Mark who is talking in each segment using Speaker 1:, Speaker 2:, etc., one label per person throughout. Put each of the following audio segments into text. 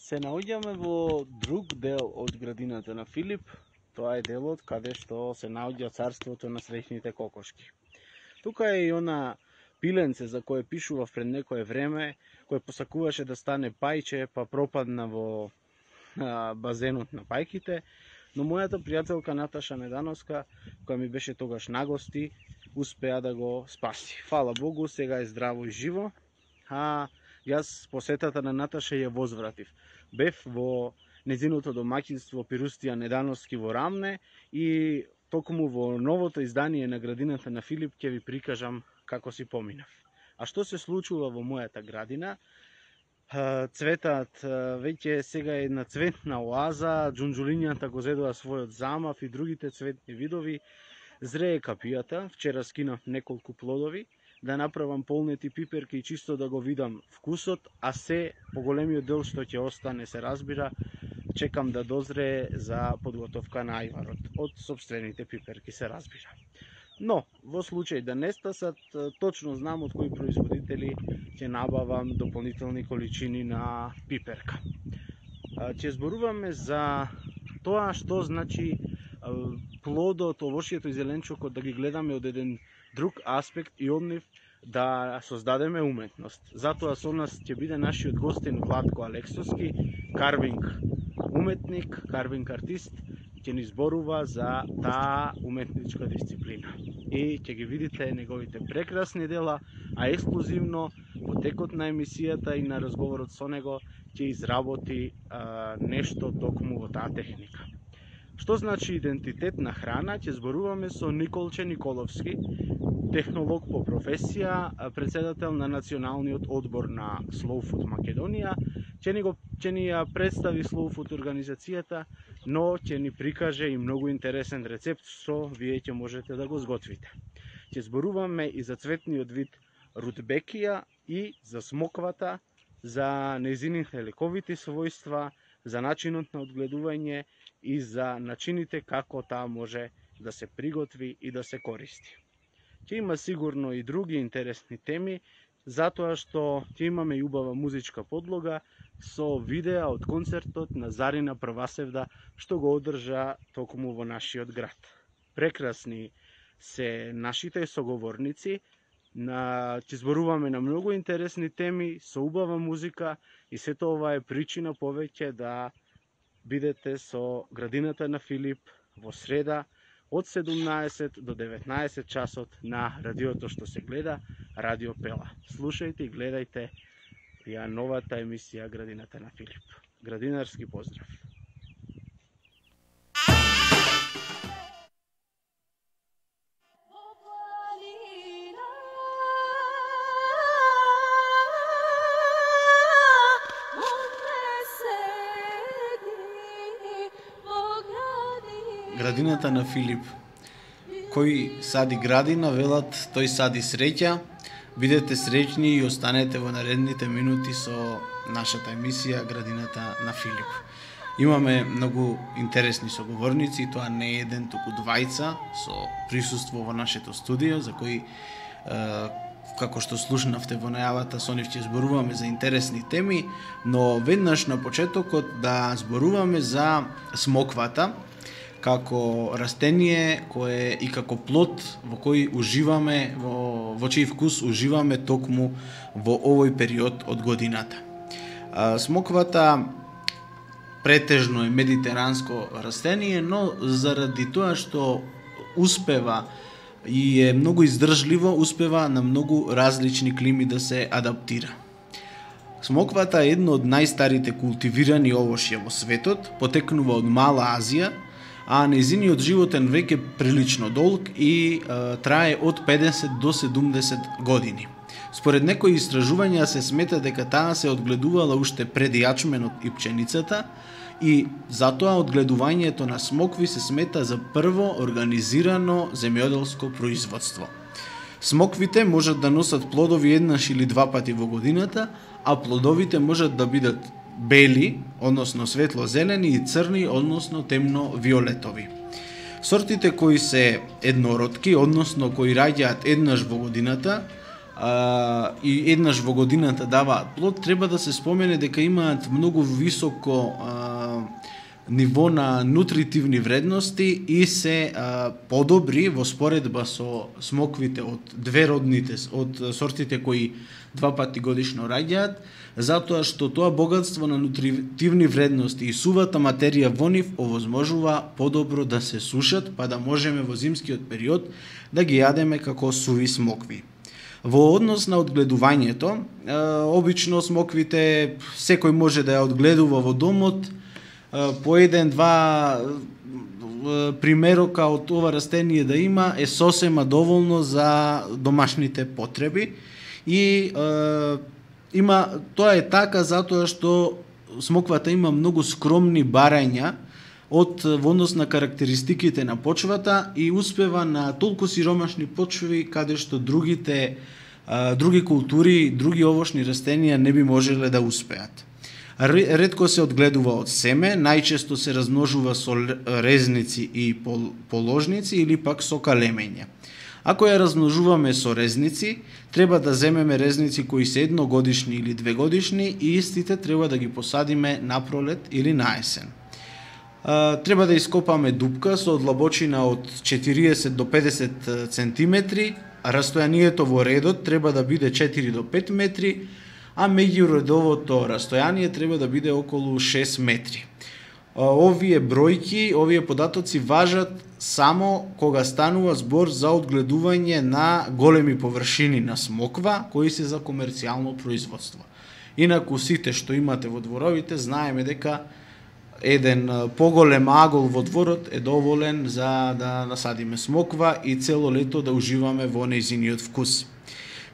Speaker 1: Се наоѓаме во друг дел од градината на Филип. Тоа е делот каде што се наоѓа царството на среќните кокошки. Тука е и она пиленце за кое пишував пред некое време, кое посакуваше да стане пајче, па пропадна во базенот на пајките, но мојата пријателка Наташа Недановска, која ми беше тогаш на гости, успеа да го спаси. Фала Богу, сега е здраво и живо, а јас посетата на Наташа ја возвратив. Бев во незиното домаќинство Пирустија Недановски во Рамне и токму во новото издание на градината на Филип ќе ви прикажам како си поминав. А што се случува во мојата градина? Цветат веќе сега е една цветна оаза, џунџулињата го зедоа својот замав и другите цветни видови. Зрее капијата, вчера скинав неколку плодови, да направам полнети пиперки и чисто да го видам вкусот, а се поголемиот дел што ќе остане се разбира, чекам да дозрее за подготовка на ајварот. Од сопствените пиперки се разбира. Но, во случај да не стасат, точно знам од кои производители ќе набавам дополнителни количини на пиперка. Ќе зборуваме за тоа што значи плодот, овошјето и зеленчукот да ги гледаме од еден друг аспект и од нив да создадеме уметност. Затоа со нас ќе биде нашиот гостин Владко Алексовски, карвинг уметник, карвинг артист, ќе ни зборува за таа уметничка дисциплина. И ќе ги видите неговите прекрасни дела, а ексклузивно во текот на емисијата и на разговорот со него ќе изработи нешто токму во таа техника. Што значи идентитет на храна? Ќе зборуваме со Николче Николовски, технолог по професија, председател на Националниот одбор на Slow Food Македонија. Ќе ни ја представи Slow Food организацијата, но ќе ни прикаже и многу интересен рецепт што вие ќе можете да го сготвите. Ќе зборуваме и за цветниот вид рудбекија и за смоквата, за нејзините лековити својства, за начинот на одгледување и за начините како таа може да се приготви и да се користи. Ќе има сигурно и други интересни теми, затоа што ќе имаме и убава музичка подлога со видеа од концертот на Зарина Првасевда што го одржа токму во нашиот град. Прекрасни се нашите соговорници, ќе зборуваме на многу интересни теми со убава музика и сето ова е причина повеќе да бидете со градината на Филип во среда од 17 до 19 часот на радиото што се гледа, Радио Пела. Слушајте и гледајте ја новата емисија Градината на Филип. Градинарски поздрав!
Speaker 2: Градината на Филип. Кој сади градина, велат, тој сади среќа. Бидете среќни и останете во наредните минути со нашата емисија Градината на Филип. Имаме многу интересни соговорници, и тоа не е еден, туку двајца со присуство во нашето студио, за кои, како што слушнавте во најавата, со нив ќе зборуваме за интересни теми, но веднаш на почетокот да зборуваме за смоквата, како растение кое и како плод во кој уживаме, во чиј вкус уживаме токму во овој период од годината. Смоквата претежно е медитеранско растение, но заради тоа што успева и е многу издржливо, успева на многу различни клими да се адаптира. Смоквата е едно од најстарите култивирани овошја во светот, потекнува од Мала Азија, а нејзиниот животен век е прилично долг и трае од 50 до 70 години. Според некои истражувања се смета дека таа се одгледувала уште пред јачменот и пченицата и затоа одгледувањето на смокви се смета за прво организирано земјоделско производство. Смоквите можат да носат плодови еднаш или два пати во годината, а плодовите можат да бидат бели, односно светло-зелени и црни, односно темно-виолетови. Сортите кои се еднородки, односно кои раѓаат еднаш во годината, и еднаш во годината даваат плод, треба да се спомене дека имаат многу високо ниво на нутритивни вредности и се подобри во споредба со смоквите од сортите кои 2 пати годишно раѓаат, затоа што тоа богатство на нутритивни вредности и сувата материја во нив овозможува подобро да се сушат, па да можеме во зимскиот период да ги јадеме како суви смокви. Во однос на одгледувањето, обично смоквите секој може да ја одгледува во домот, по 1-2 примерока од ова растение да има е сосема доволно за домашните потреби и тоа е така затоа што смоквата има многу скромни барања во однос на карактеристиките на почвата и успева на толку сиромашни почви каде што други култури, други овошни растенија не би можеле да успеат. Ретко се одгледува од семе, најчесто се размножува со резници и положници или пак со калемење. Ако ја размножуваме со резници, треба да земеме резници кои се 1-годишни или 2-годишни и истите треба да ги посадиме на пролет или на есен. Треба да ископаме дупка со длабочина од 40 до 50 центиметри, растојанието во редот треба да биде 4 до 5 метри, а меѓуредовото растојание треба да биде околу 6 метри. Овие бројки, овие податоци важат само кога станува збор за одгледување на големи површини на смоква кои се за комерцијално производство. Инаку сите што имате во дворовите знаеме дека еден поголем агол во дворот е доволен за да насадиме смоква и цело лето да уживаме во нејзиниот вкус.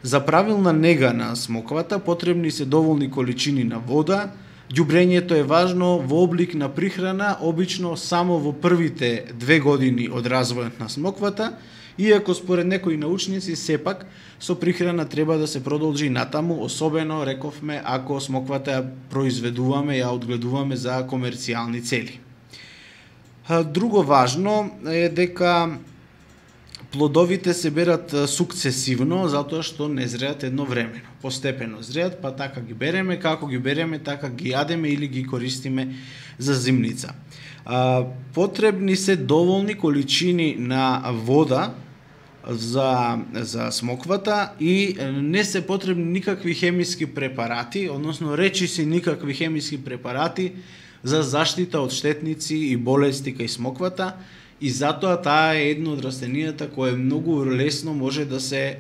Speaker 2: За правилна нега на смоквата потребни се доволни количини на вода. Ѓубрењето е важно во облик на прихрана, обично само во првите 2 години од развојот на смоквата, иако според некои научници сепак со прихрана треба да се продолжи натаму, особено рековме ако смоквата ја произведуваме, ја одгледуваме за комерцијални цели. Друго важно е дека плодовите се берат сукцесивно, затоа што не зреат едновремено. Постепено зреат, па така ги береме, како ги береме, така ги јадеме или ги користиме за зимница. Потребни се доволни количини на вода за смоквата и не се потребни никакви хемиски препарати, односно речиси никакви хемиски препарати за заштита од штетници и болести кај смоквата, и затоа таа е едно од растенијата кое многу лесно може да се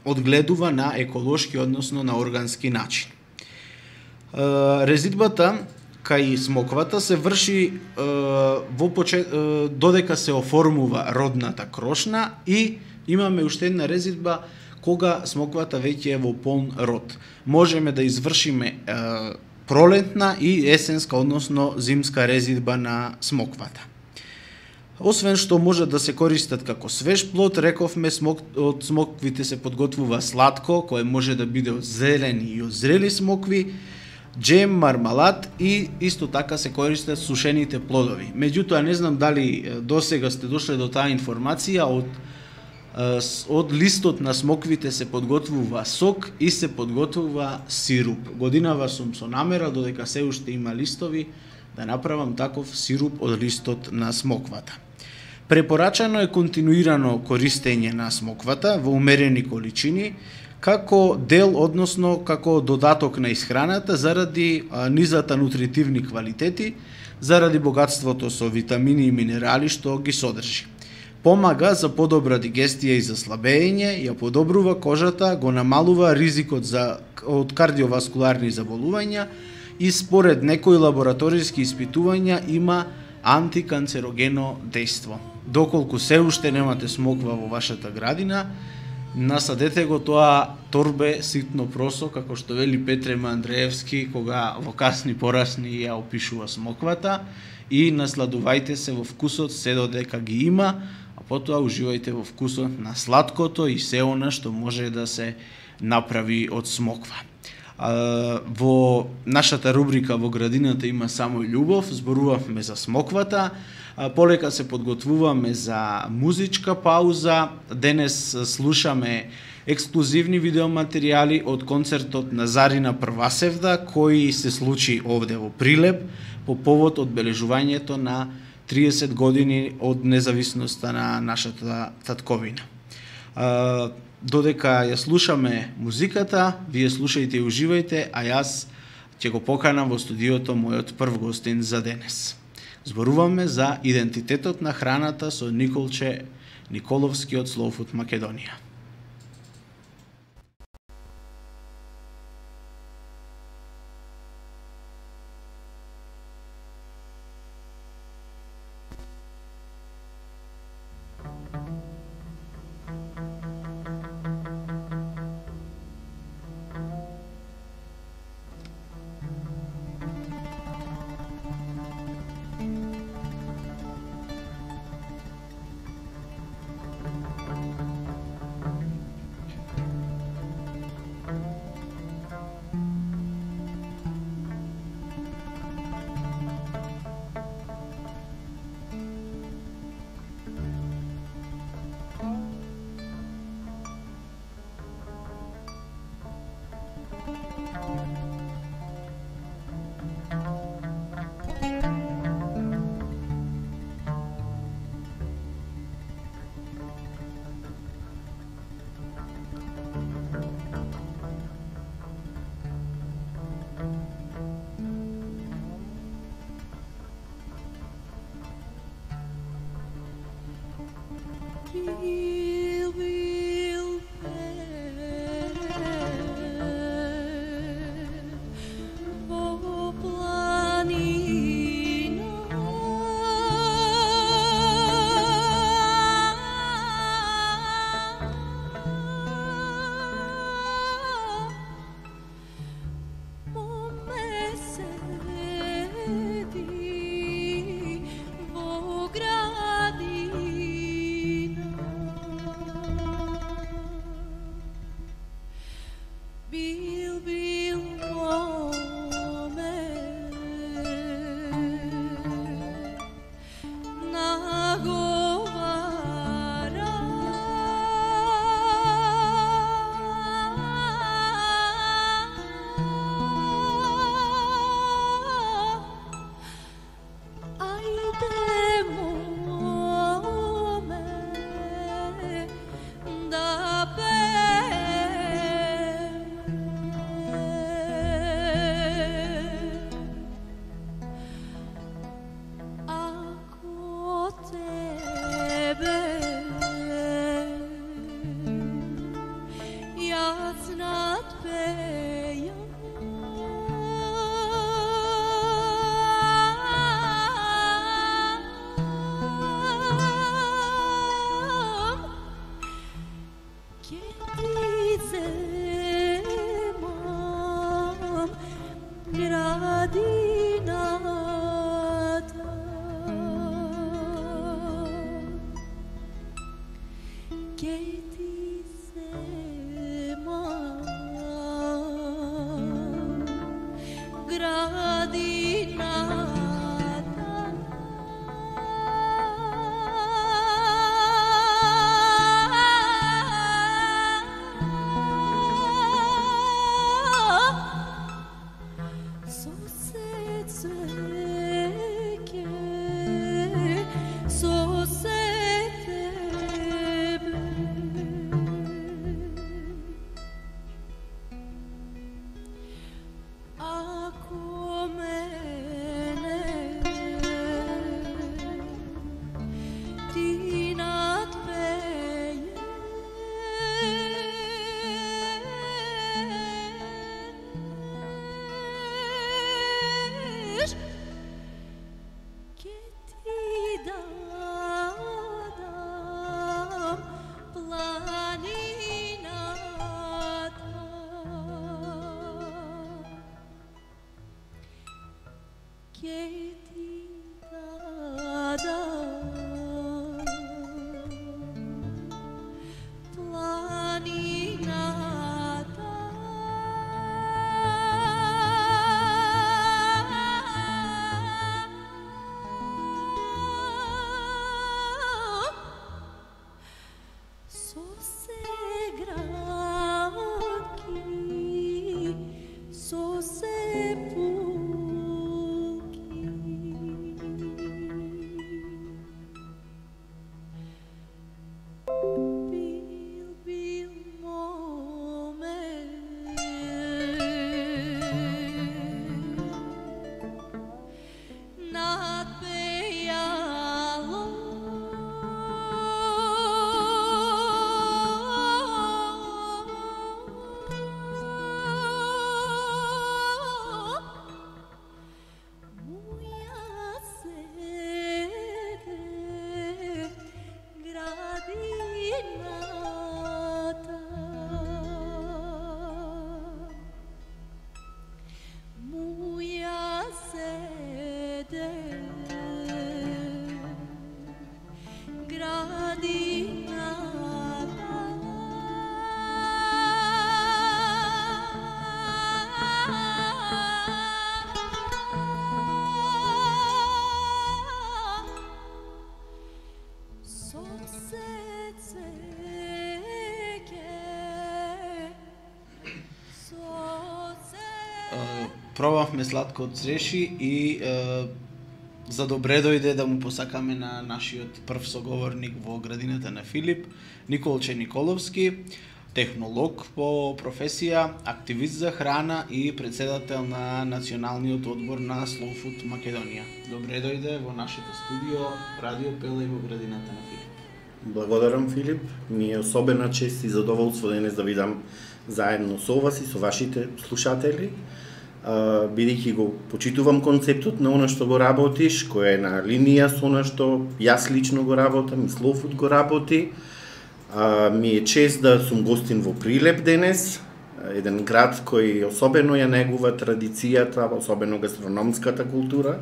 Speaker 2: одгледува на еколошки, односно на органски начин. Резидбата кај смоквата се врши додека се оформува родната крошна и имаме уште една резидба кога смоквата веќе е во полн род. Можеме да извршиме пролетна и есенска, односно зимска резидба на смоквата. Освен што може да се користат како свеж плод, рековме од смоквите се подготвува сладко, кое може да биде од зелени и од зрели смокви, джем, мармалад и исто така се користат сушените плодови. Меѓутоа, не знам дали досега сте дошле до таа информација, од листот на смоквите се подготвува сок и се подготвува сируп. Годинава сум со намера, додека се уште има листови, да направам таков сируп од листот на смоквата. Препорачано е континуирано користење на смоквата во умерени количини, како дел, односно како додаток на исхраната, заради низата нутритивни квалитети, заради богатството со витамини и минерали што ги содржи. Помага за подобра дигестија и заслабење, ја подобрува кожата, го намалува ризикот од кардиоваскуларни заболувања и според некои лабораториски испитувања има антиканцерогено дејство. Доколку се уште немате смоква во вашата градина, насадете го тоа торбе ситно просо, како што вели Петре Андреевски кога во касни порасни ја опишува смоквата, и насладувајте се во вкусот се додека ги има, а потоа уживајте во вкусот на сладкото и се она што може да се направи од смоква. Во нашата рубрика во градината има само љубов, зборувавме за смоквата, полека се подготвуваме за музичка пауза. Денес слушаме ексклузивни видеоматеријали од концертот на Зарина Првасевда, кој се случи овде во Прилеп по повод одбележувањето на 30 години од независноста на нашата татковина. Додека ја слушаме музиката, вие слушајте и уживајте, а јас ќе го поканам во студиото мојот прв гостин за денес. Зборуваме за идентитетот на храната со Николче Николовски од Slow Food Македонија. пробавме сладко од цреши и за добре дојде да му посакаме на нашиот прв соговорник во градината на Филип, Николче Николовски, технолог по професија, активист за храна и председател на Националниот одбор на Slow Food Македонија. Добре дојде во нашето студио Радио Пела и во градината на Филип.
Speaker 3: Благодарам, Филип. Ми е особена чест и задоволство денес да видам заедно со вас и со вашите слушатели. Бидејќи го почитувам концептот на она што го работиш, која е на линија со она што јас лично го работам и Slow Food го работи. Ми е чест да сум гостин во Прилеп денес, еден град кој особено ја негува традицијата, особено гастрономската култура.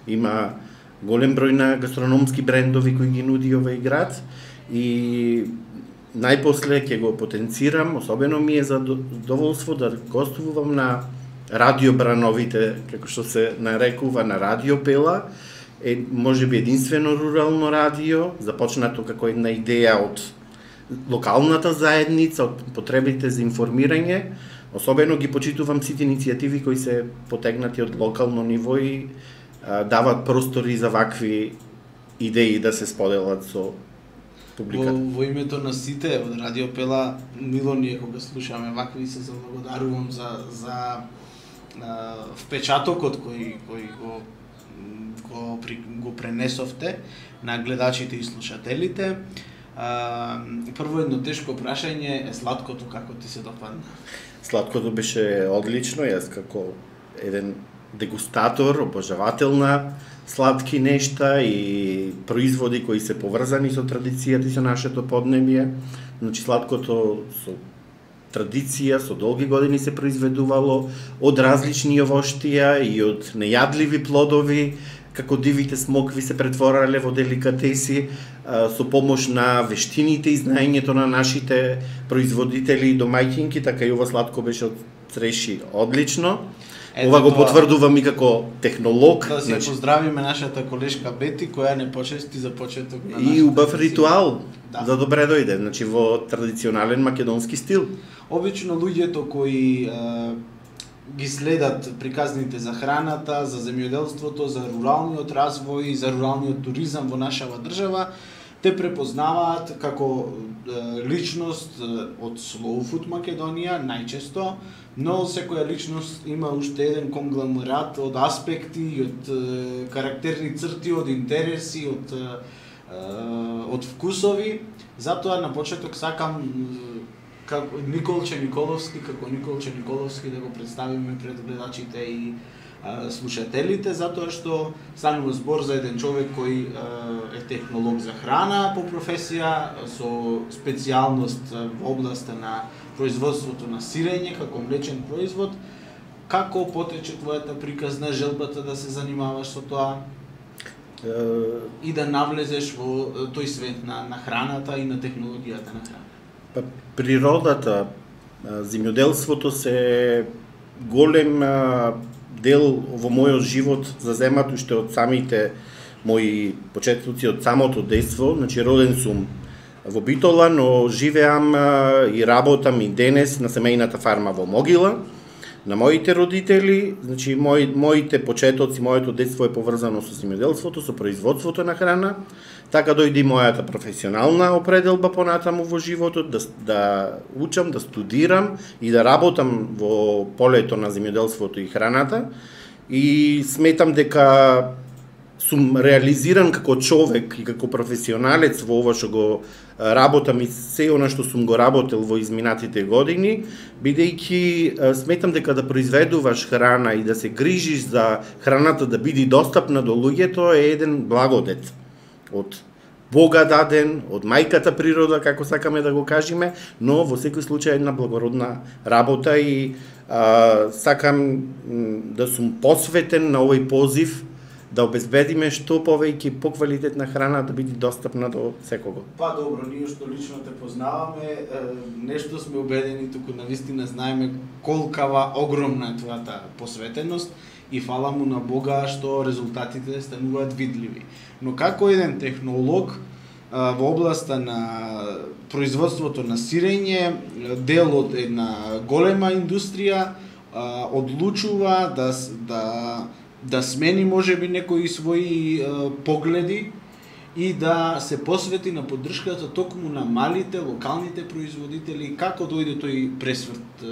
Speaker 3: Има голем број на гастрономски брендови кои ги нуди овој град и најпосле ќе го потенцирам, особено ми е задоволство да гостувам на радио Брановите, како што се нарекува, на Радио Пела, можеби единствено рурално радио, започнато како една идеја од локалната заедница, од потребите за информирање. Особено ги почитувам сите иницијативи кои се потегнати од локално ниво и дават простори за вакви идеи да се споделат со публиката.
Speaker 2: Во името на сите од Радио Пела, мило ни е кога слушаме вакви и се заблагодарувам за впечатокот кој го пренесовте на гледачите и слушателите. Прво едно тешко прашање е сладкото како ти се допадна?
Speaker 3: Сладкото беше одлично, јас како еден дегустатор, обожавател на сладки нешта и производи кои се поврзани со традицијата и со нашето поднебје. Значи сладкото со традиција, со долги години се произведувало од различни јовоштија и од нејадливи плодови, како дивите смокви се претворале во деликатеси со помош на вештините и знаењето на нашите производители и домаќинки, така и ова сладко беше од цреши одлично. Ова го потврдувам и како технолог.
Speaker 2: Да се поздравиме нашата колешка Бети, која не почести за почеток на
Speaker 3: нашата. И убав ритуал, да добре дојде, значи во традиционален македонски стил.
Speaker 2: Обично луѓето кои ги следат приказните за храната, за земјоделството, за руралниот развој, за руралниот туризам во нашава држава, те препознаваат како личност од Slow Food Македонија најчесто, но секоја личност има уште еден конгломерат од аспекти, од карактерни црти, од интереси, од вкусови. Затоа на почеток сакам како Николче Николовски да го представиме пред гледачите и слушателите, затоа што станува збор за еден човек кој е технолог за храна по професија, со специјалност во областа на производството на сирење како млечен производ. Како потече твојата приказна, желбата да се занимаваш со тоа и да навлезеш во тој свет на храната и на технологијата на храна?
Speaker 3: Природата, земјоделството се голем дел во мојот живот заземат уште од самите мои почетоци, од самото детство. Значи роден сум во Битола, но живеам и работам и денес на семејната фарма во Могила, на моите родители. Значи моите почетоци, моето детство е поврзано со земјоделството, со производството на храна. Така дојде и мојата професионална определба понатаму во животот, да учам, да студирам и да работам во полето на земјоделството и храната. И сметам дека сум реализиран како човек и како професионалец во ова што го работам и се она што сум го работел во изминатите години, бидејќи сметам дека да произведуваш храна и да се грижиш за храната да биде достапна до луѓето е еден благодет од Бога даден, од мајката природа, како сакаме да го кажеме, но во секој случај една благородна работа и сакам да сум посветен на овој позив да обезбедиме што повеќе поквалитетна храна да биде достапна до секого.
Speaker 2: Па добро, ние што лично те познаваме, нешто сме убедени, туку навистина знаеме колкава огромна е твојата посветеност и фала му на Бога што резултатите стануваат видливи. Но како еден технолог во областа на производството на сирење, дел од една голема индустрија, одлучува да смени можеби некои своји погледи и да се посвети на поддршката токму на малите локалните производители. Како дојде тој пресврт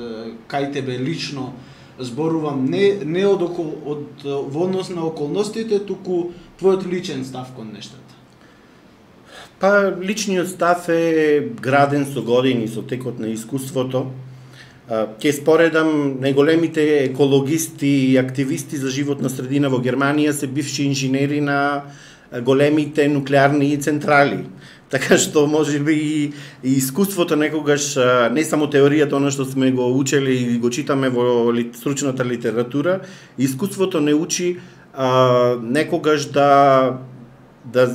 Speaker 2: кај тебе лично? Зборувам не во однос на околностите, туку твојот личен став кон нештата.
Speaker 3: Па, личниот став е граден со години, со текот на искуството. Ќе споредам, најголемите екологисти и активисти за животна средина во Германија се бивши инженери на големите нуклеарни централи. Така што можеби и искуството некогаш, не само теоријата, она што сме го учели и го читаме во стручната литература, искуството не учи некогаш да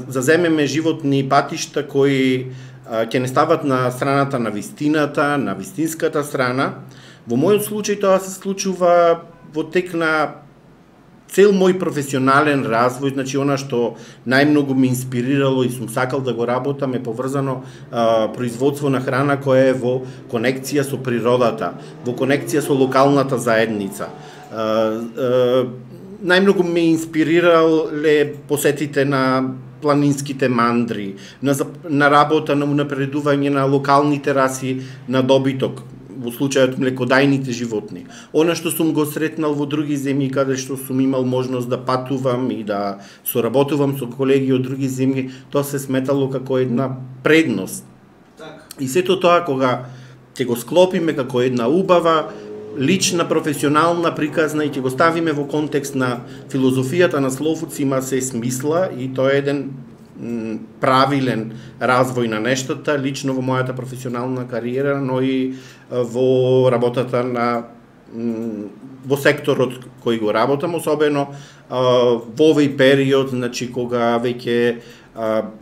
Speaker 3: заземеме животни патишта кои ќе не стават на страната на вистината, на вистинската страна. Во мојот случај тоа се случува во тек на цел мој професионален развој, значи она што најмногу ме инспирирало и сум сакал да го работам е поврзано производство на храна која е во конекција со природата, во конекција со локалната заедница. Најмногу ме инспирирале посетите на планинските мандри, на работа на унапредување на локалните раси на добиток, во случајот млекодајните животни. Она што сум го сретнал во други земји каде што сум имал можност да патувам и да соработувам со колеги од други земји, тоа се сметало како една предност. И сето тоа кога ќе го склопиме како една убава лична, професионална, приказна и ќе го ставиме во контекст на филозофијата на Slow Foods, има се смисла и тоа е еден правилен развој на нештата, лично во мојата професионална кариера, но и во работата во секторот кој го работам, особено во овој период, значи кога веќе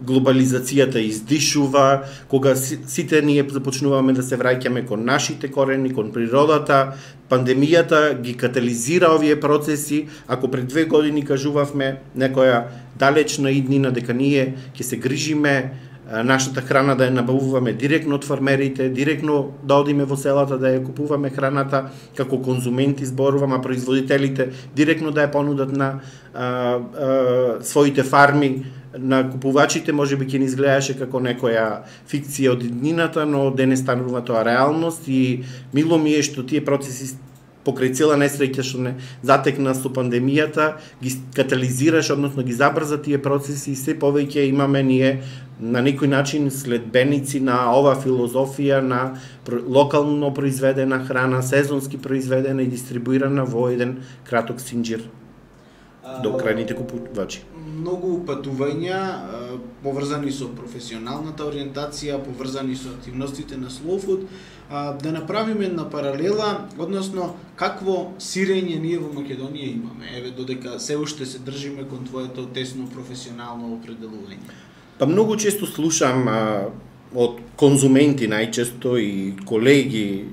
Speaker 3: глобализацијата издишува, кога сите ние започнуваме да се враќаме кон нашите корени, кон природата, пандемијата ги катализира овие процеси. Ако пред 2 години кажувавме некоја далечна иднина дека ние ќе се грижиме нашата храна да ја набавуваме директно од фармерите, директно да одиме во селата да ја купуваме храната, како конзументи зборувам, а производителите директно да ја понудат на своите фарми, на купувачите можеби ќе ни изгледаше како некоја фикција од иднината, но денес станува тоа реалност и мило ми е што тие процеси покрај цела несреќа што не затекна со пандемијата ги катализираш, односно ги забрза тие процеси и се повеќе имаме ние на некој начин следбеници на ова филозофија на локално произведена храна, сезонски произведена и дистрибуирана во еден краток синџир до крајните купувачи.
Speaker 2: Многу патувања поврзани со професионалната ориентација, поврзани со активностите на Slow Food, да направиме една паралела, односно какво сирење ние во Македонија имаме, еве додека се уште се држиме кон твоето тесно професионално определување.
Speaker 3: Па многу често слушам од конзументи најчесто и колеги,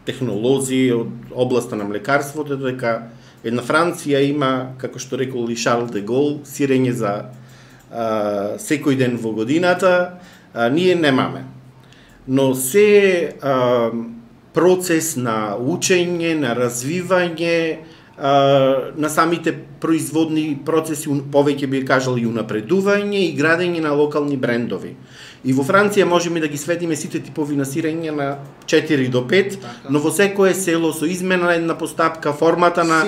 Speaker 3: технолози од областа на млекарството, дека една Франција има, како што рекол и Шарл де Гол, сирење за секој ден во годината, ние немаме. Но се процес на учење, на развивање, на самите производни процеси, повеќе би кажал и унапредување и градење на локални брендови. И во Франција можеме да ги сведиме сите типови на сирење на 4 до 5, но во секое село со измена една постапка, формата на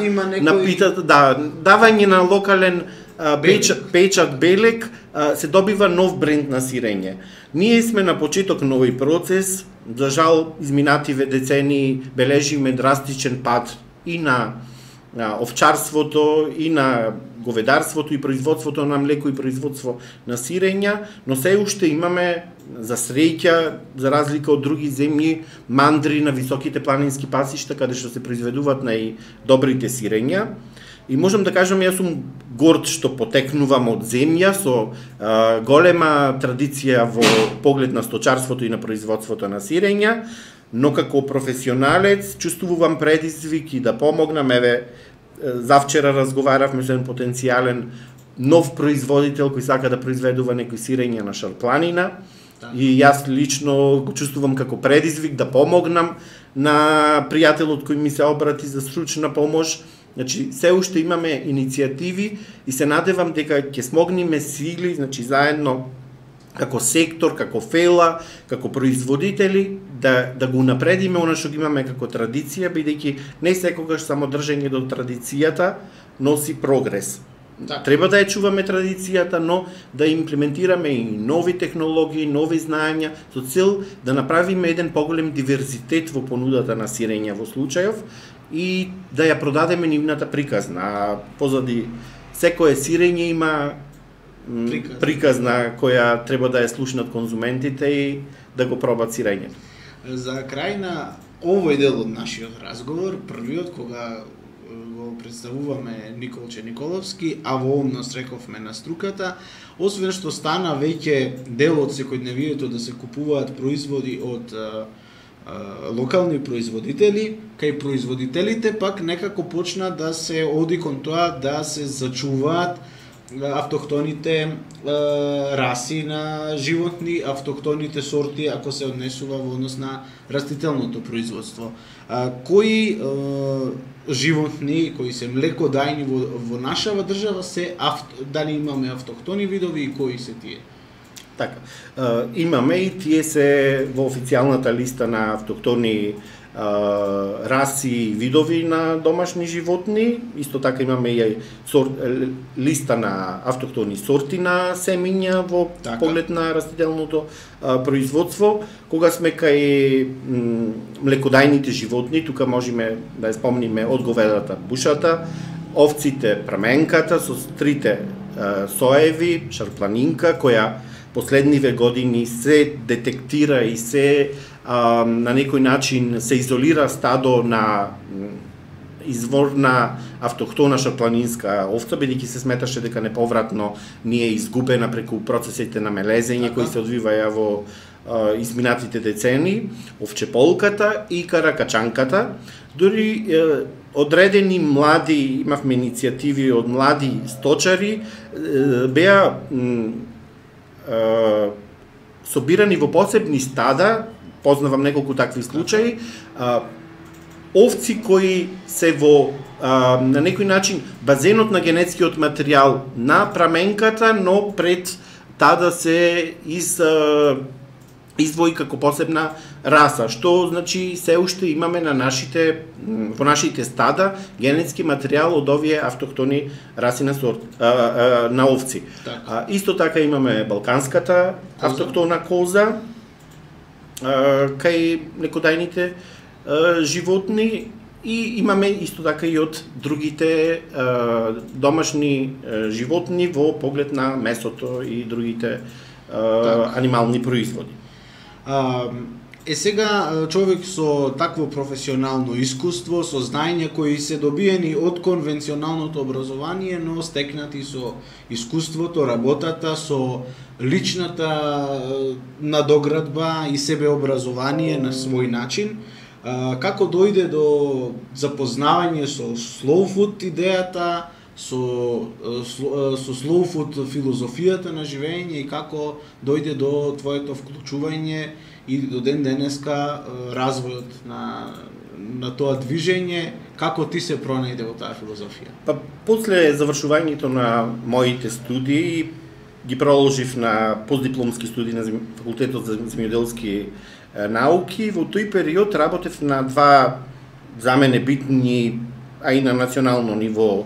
Speaker 3: питата, давање на локален печат белек, се добива нов бренд на сирење. Ние сме на почеток на овој процес, за жал изминативе децении бележиме драстичен пад и на овчарството, и на говедарството, и производството на млеко, и производство на сирења, но се уште имаме за среќа, за разлика од други земји, мандри на високите планински пасишта, каде што се произведуваат најдобрите сирења. И можам да кажам, јас сум горд што потекнувам од земја со голема традиција во поглед на сточарството и на производството на сирења, но како професионалец чувствувам предизвик и да помогнам. Еве, завчера разговаравме со еден потенцијален нов производител кој сака да произведува некои сирења на Шарпланина и јас лично го чувствувам како предизвик да помогнам на пријателот кој ми се обрати за стручна помош. Значи, се уште имаме иницијативи и се надевам дека ќе смогнеме сили, значи заедно како сектор, како фела, како производители, да го напредиме она што ги имаме како традиција, бидејќи не секогаш само држење до традицијата носи прогрес.
Speaker 2: Так.
Speaker 3: Треба да ја чуваме традицијата, но да имплементираме и нови технологии, нови знаења, со цел да направиме еден поголем диверзитет во понудата на сирење во случајов и да ја продадеме нивната приказна. А позади секое сирење има приказна која треба да ја слушнат конзументите и да го пробат сирењето.
Speaker 2: За крај на овој дел од нашиот разговор, првиот кога го представуваме Николче Николовски, а во овомнос рековме на струката, освен што стана веќе дел од секојдневието да се купуваат производи од локални производители, кај производителите пак некако почна да се оди кон тоа да се зачуваат автохтоните раси на животни, автохтоните сорти, ако се однесува во однос на растителното производство. Кои животни, кои се млекодајни во нашава држава дали имаме автохтони видови и кои се тие?
Speaker 3: Така, имаме и тие се во официјалната листа на автохтони раси и видови на домашни животни. Исто така имаме и листа на автохтони сорти на семиња во поглед на растителното производство. Кога сме кај млекодајните животни, тука можеме да ја спомниме од говедата бушата, овците праменката со трите соеви, шарпланинка, која последниве години се детектира и се на некој начин се изолира стадо на изворна автохтона шарпланинска овца, бидејќи се сметаше дека неповратно ни е изгубена преку процесите на мелезење кои се одвиваја во изминатите децени, овчеполката и каракачанката. Дури одредени млади, имавме иницијативи од млади сточари, беа собирани во посебни стада, познавам неколку такви случаи, овци кои се во на некој начин базенот на генетскиот материјал на праменката, но пред таа да се издвои како посебна раса, што значи се уште имаме на во нашите стада генетски материјал од овие автохтони раси на овци. Исто така имаме балканската автохтона коза, кај млекодајните животни, и имаме исто така и од другите домашни животни во поглед на месото и другите анимални производи.
Speaker 2: Сега човек со такво професионално искуство, со знаења кои се добиени од конвенционалното образование, но стекнати со искуството, работата, со личната надоградба и себеобразование на свој начин, како дојде до запознавање со slow food идејата, со slow food филозофијата на живење и како дојде до твоето вклучување и до ден денеска развојот на тоа движење, како ти се пронајде во таа филозофија?
Speaker 3: Па после завршувањето на моите студии ги продолжив на постдипломски студии на факултетот за земјоделски науки. Во тој период работев на два за мене битни, а и на национално ниво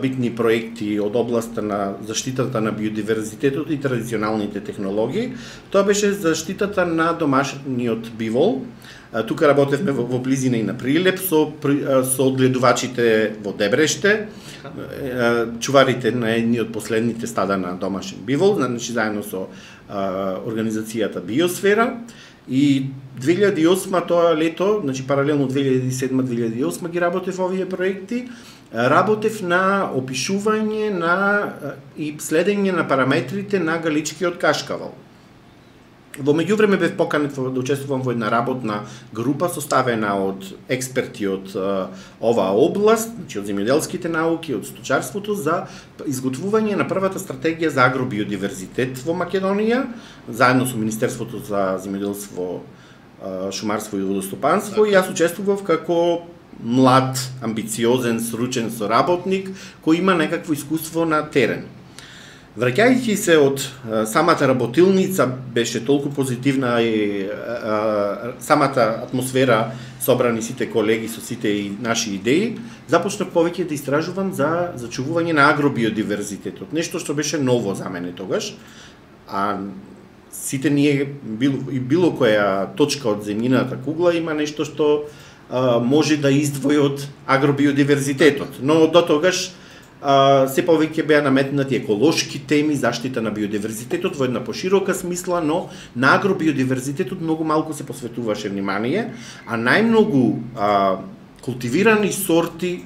Speaker 3: битни проекти од областа на заштитата на биодиверзитетот и традиционалните технологии. Тоа беше заштитата на домашниот бивол. Тука работевме во близина и на Прилеп со одгледувачите во Дебреште, чуварите на едни од последните стада на домашен бивол, значи заедно со организацијата Биосфера. И 2008 тоа лето, значи паралелно 2007-2008 ги работев овие проекти, работев на опишување и следење на параметрите на галичкиот кашкавал. Во меѓувреме бев поканет да учествувам во една работна група составена од експерти од оваа област, значи од земјоделските науки, од сточарството, за изготвување на првата стратегија за агробиодиверзитет во Македонија, заедно со Министерството за земјоделство шумарство и водостопанство и јас учествував како млад, амбициозен, сручен соработник кој има некакво искуство на терен. Враќајќи се од самата работилница, беше толку позитивна и самата атмосфера, собрани сите колеги со сите и наши идеи, започнав повеќе да истражувам за зачувување на агробиодиверзитетот, нешто што беше ново за мене тогаш, а сите ние, било која точка од земјината кугла има нешто што може да издвои од агробиодиверзитетот, но до тогаш се повеќе беа наметнати еколошки теми, заштита на биодиверзитетот во една поширока смисла, но на агробиодиверзитетот многу малку се посветуваше внимание, а најмногу култивирани сорти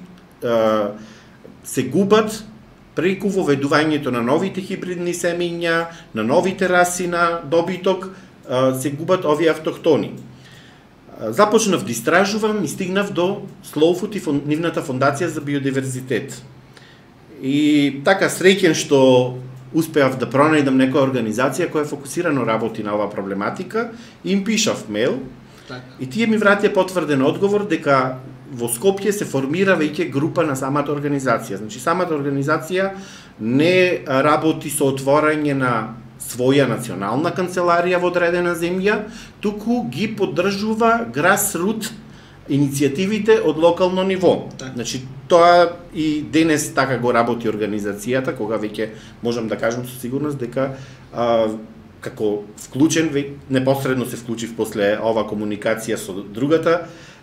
Speaker 3: се губат преку воведувањето на новите хибридни семења, на новите раси на добиток, се губат овие автохтони. Започнав да истражувам и стигнав до Слоуфут и нивната фондација за биодиверзитет. И така среќен што успеав да пронајдам некоја организација која фокусирано работи на оваа проблематика, им пишав мејл и тие ми вратија потврден одговор дека во Скопје се формира веќе група на самата организација. Значи самата организација не работи со отворање на своја национална канцеларија во одредена земја, туку ги поддржува grassroot иницијативите од локално ниво. Значи, тоа и денес така го работи организацијата, кога веќе можам да кажам со сигурност дека како вклучен, непосредно се вклучив после ова комуникација со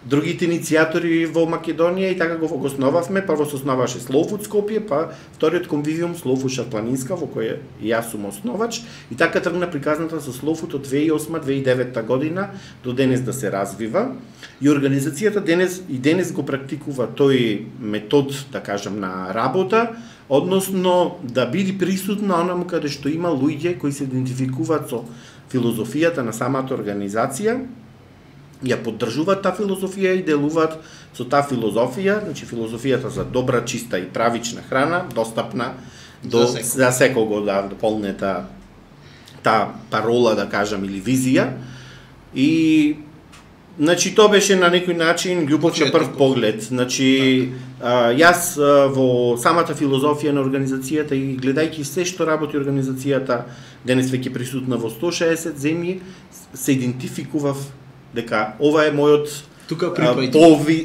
Speaker 3: другите иницијатори во Македонија и така го основавме. Прво се основаше Слоуфут Скопје, па вториот конвивиум Слоуфут Шарпланинска, во кој и јас сум основач, и така тргна приказната со Слоуфут од 2008-2009 година до денес да се развива. И организацијата денес го практикува тој метод, да кажам, на работа, односно да биде присутна онаму каде што има луѓе кои се идентификуваат со филозофијата на самата организација, ја поддржуваат таа филозофија и делуваат со таа филозофија, значи филозофијата за добра, чиста и правична храна, достапна за секого да дополне таа парола, да кажам, или визија. И значи тоа беше на некој начин љубов на прв поглед. Значи јас во самата филозофија на организацијата и гледајќи се што работи организацијата, денес веќе присутна во 160 земји, се идентификував дека ова е мојот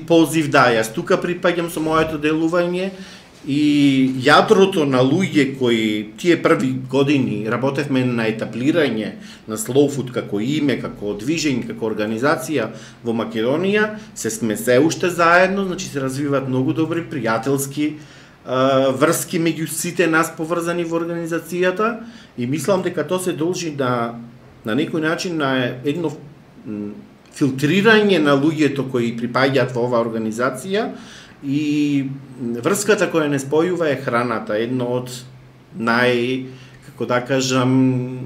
Speaker 3: позив, да, јас тука припаѓам со моето делување и јадрото на луѓе кои тие први години работевме на етаблирање на Слоуфут како име, како движење, како организација во Македонија, сме се уште заедно, значи се развиваат многу добри пријателски врски меѓу сите нас поврзани во организацијата и мислам дека тоа се должи на некој начин на едно филтрирање на луѓето кои припаѓаат во оваа организација и врската која не спојува е храната, едно од како да кажам,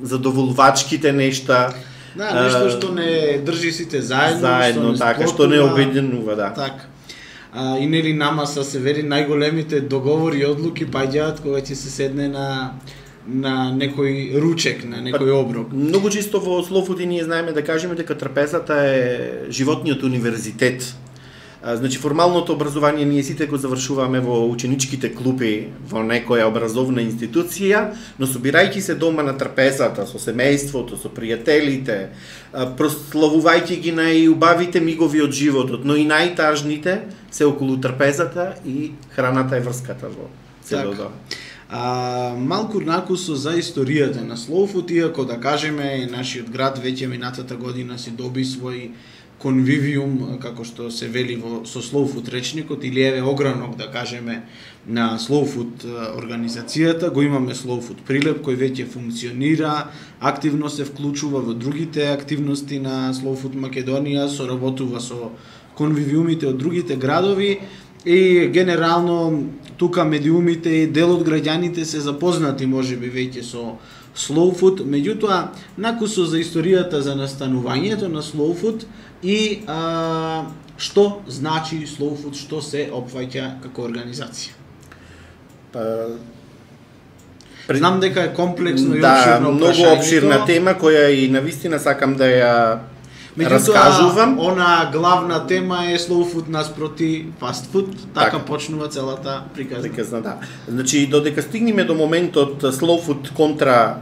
Speaker 3: задоволувачките нешта.
Speaker 2: Да, нешто што не држи сите заедно,
Speaker 3: што не обединува, да.
Speaker 2: Така. И нели нама се вери најголемите договори и одлуки паѓаат кога ќе се седне на некој ручек, на некој оброк.
Speaker 3: Многу чисто во Слоуфут ние знаеме да кажеме дека трапезата е животниот универзитет. Значи формалното образование ние сите го завршуваме во ученичките клупи во некоја образовна институција, но собирајќи се дома на трапезата со семејството, со пријателите, прославувајќи ги најубавите мигови од животот, но и најтажните се околу трапезата и храната е врската во целото тоа.
Speaker 2: Малку накусо за историјата на Слоуфут, иако да кажеме нашиот град веќе минатата година си доби свој конвивиум, како што се вели со Слоуфут речникот, или еве огранок, да кажеме, на Слоуфут организацијата, го имаме Слоуфут Прилеп, кој веќе функционира, активно се вклучува во другите активности на Слоуфут Македонија, соработува со конвивиумите од другите градови и генерално тука медиумите и дел од граѓаните се запознати можеби веќе со Слоуфут, меѓутоа накусо за историјата за настанувањето на Слоуфут и што значи Слоуфут, што се опфаќа како организација. Знам дека е комплексно и обширно
Speaker 3: многу обширна тема која и навистина сакам да ја раскажувам.
Speaker 2: Она главна тема е slow food наспроти fast food, така
Speaker 3: Така.
Speaker 2: почнува целата приказна.
Speaker 3: Приказна, да. Значи, додека стигнеме до моментот slow food контра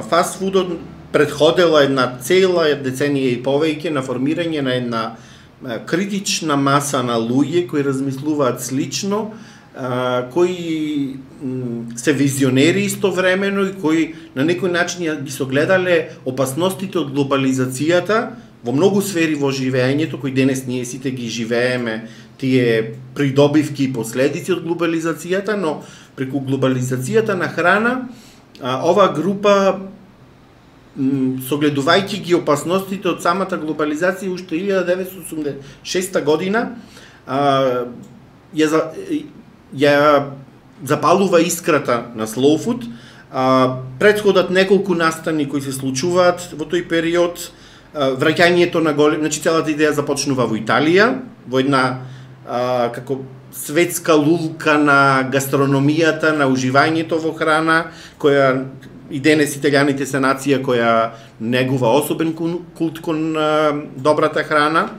Speaker 3: fast foodот, предходела една цела деценија и повеќе на формирање на една критична маса на луѓе кои размислуваат слично, кои се визионери истовремено и кои на некој начин ги согледале опасностите од глобализацијата во многу сфери во живеењето, кои денес ние сите ги живееме, тие придобивки и последици од глобализацијата, но преку глобализацијата на храна, оваа група, согледувајќи ги опасностите од самата глобализација уште 1986 година, ја запалува искрата на slow food. Предходат неколку настани кои се случуваат во тој период, враќањето на голем, значи целата идеја започнува во Италија, во една како светска лулка на гастрономијата, на уживањето во храна, која и денес италијаните се нација која негува особен култ кон добрата храна.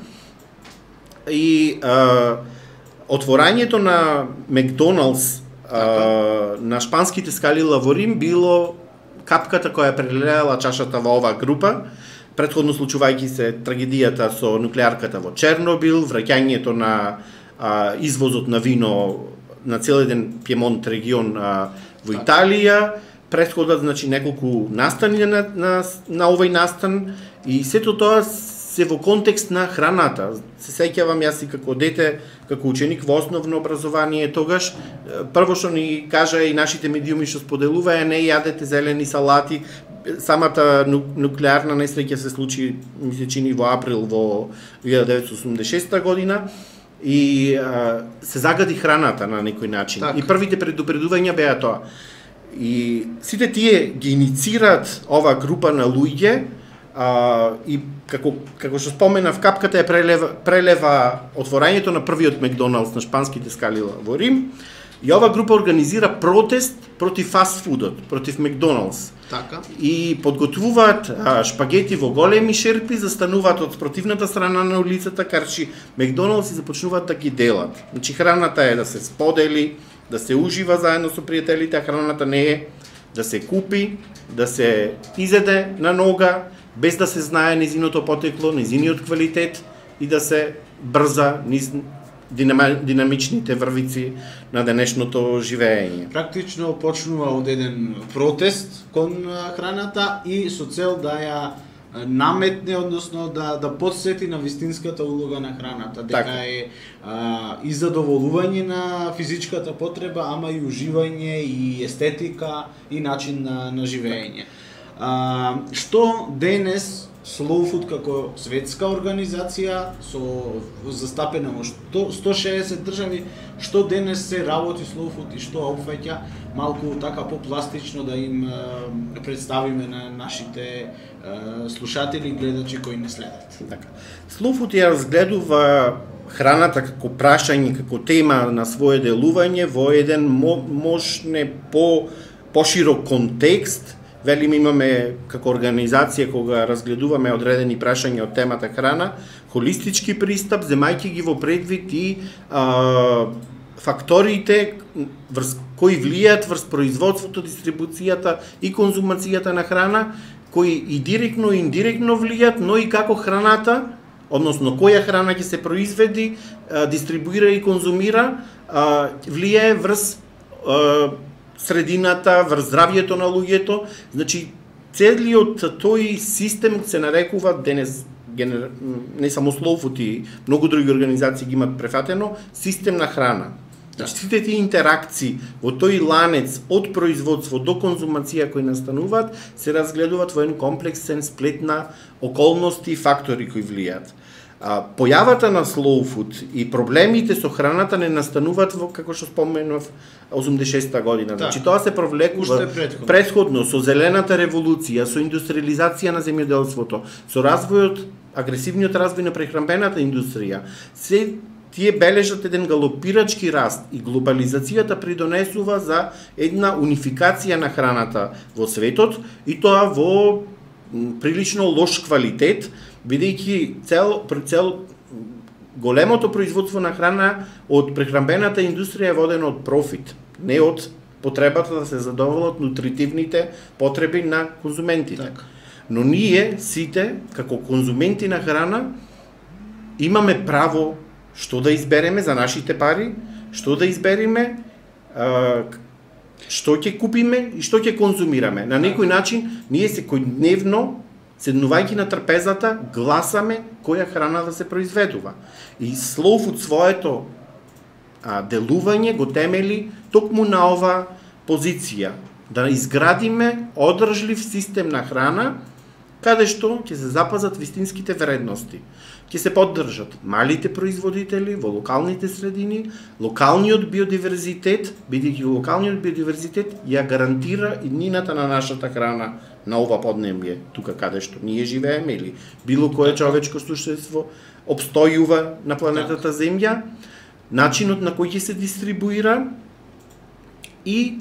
Speaker 3: И отворањето на Макдоналдс на шпанските скали во Рим било капката која прелеала чашата во оваа група, претходно случувајќи се трагедијата со нуклеарката во Чернобил, враќањето на извозот на вино на цел еден Пиемонт регион во Италија, претходат значи неколку настани на овој настан, и сето тоа се во контекст на храната. Се сеќавам јас и како дете, како ученик во основно образование тогаш, прво што ни кажа и нашите медиуми што споделуваа, не јадете зелени салати. Самата нуклеарна несреќа се случи, ми се чини, во април во 1986 година, и се загади храната на некој начин.
Speaker 2: Так.
Speaker 3: И првите предупредувања беа тоа. И сите тие ги иницираат оваа група на луѓе, и како што споменав, капката е прелева отворањето на првиот Макдоналдс на шпанските скали во Рим, и оваа група организира протест против фастфудот, против Макдоналдс.
Speaker 2: Така.
Speaker 3: И подготвуваат шпагети во големи шерпи, застануваат од спротивната страна на улицата, карчи Макдоналдс, и започнуваат да ги делат. Значи храната е да се сподели, да се ужива заедно со пријателите, а храната не е да се купи, да се изеде на нога, без да се знае незиното потекло, незиниот квалитет, и да се брза низ динамичните врвици на денешното живење.
Speaker 2: Практично почнува од еден протест кон храната и со цел да ја наметне, односно да подсети на вистинската улога на храната, дека
Speaker 3: Така
Speaker 2: е и задоволување на физичката потреба, ама и уживање и естетика и начин на живење. Што денес Slow Food како светска организација со застапена во 160 држави, што денес се работи Slow Food и што опфаќа, малку така попластично да им представиме на нашите слушатели и гледачи кои не следат.
Speaker 3: Така. Slow Food ја разгледува храната како прашање, како тема на свое делување во еден можне поширок контекст. Велим, имаме како организација кога разгледуваме одредени прашања од темата храна, холистички пристап, земајќи ги во предвид и факторите кои влијаат врз производството, дистрибуцијата и конзумацијата на храна, кои и директно и индиректно влијаат, но и како храната, односно која храна ќе се произведи, дистрибуира и конзумира, влијае врз средината, врз здравјето на луѓето. Значи, целиот тој систем се нарекува денес, не само Slow Food, и многу други организации ги имат префатено, систем на храна. Значи, сите тие интеракции во тој ланец од производство до конзумација кои настануваат, се разгледуваат во еден комплексен сплет на околности и фактори кои влијаат. Појавата на Slow Food и проблемите со храната не настануваат во, како што споменав, 86-та година. Значи, тоа се провлекува предходно со зелената револуција, со индустриализација на земјоделството, со развојот, агресивниот развој на прехранбената индустрија. Се тие бележат еден галопирачки раст, и глобализацијата придонесува за една унификација на храната во светот, и тоа во прилично лош квалитет, бидејќи цел големото производство на храна од прехранбената индустрија е водено од профит, не од потребата да се задоволат нутритивните потреби на конзументите.
Speaker 2: Така.
Speaker 3: Но ние сите, како конзументи на храна, имаме право што да избереме за нашите пари, што да избереме, што ќе купиме и што ќе конзумираме. На некој начин, ние секојдневно, седнувајќи на трпезата, гласаме која храна да се произведува. И Slow Food своето делување го темели токму на ова позиција, да изградиме одржлив систем на храна, каде што ќе се запазат вистинските вредности. Ќе се поддржат малите производители во локалните средини, локалниот биодиверзитет, бидејќи локалниот биодиверзитет ја гарантира иднината на нашата храна на ова поднебје, тука каде што ние живееме или било кое човечко суштество обстојува на планетата Земја, начинот на кој ќе се дистрибуира и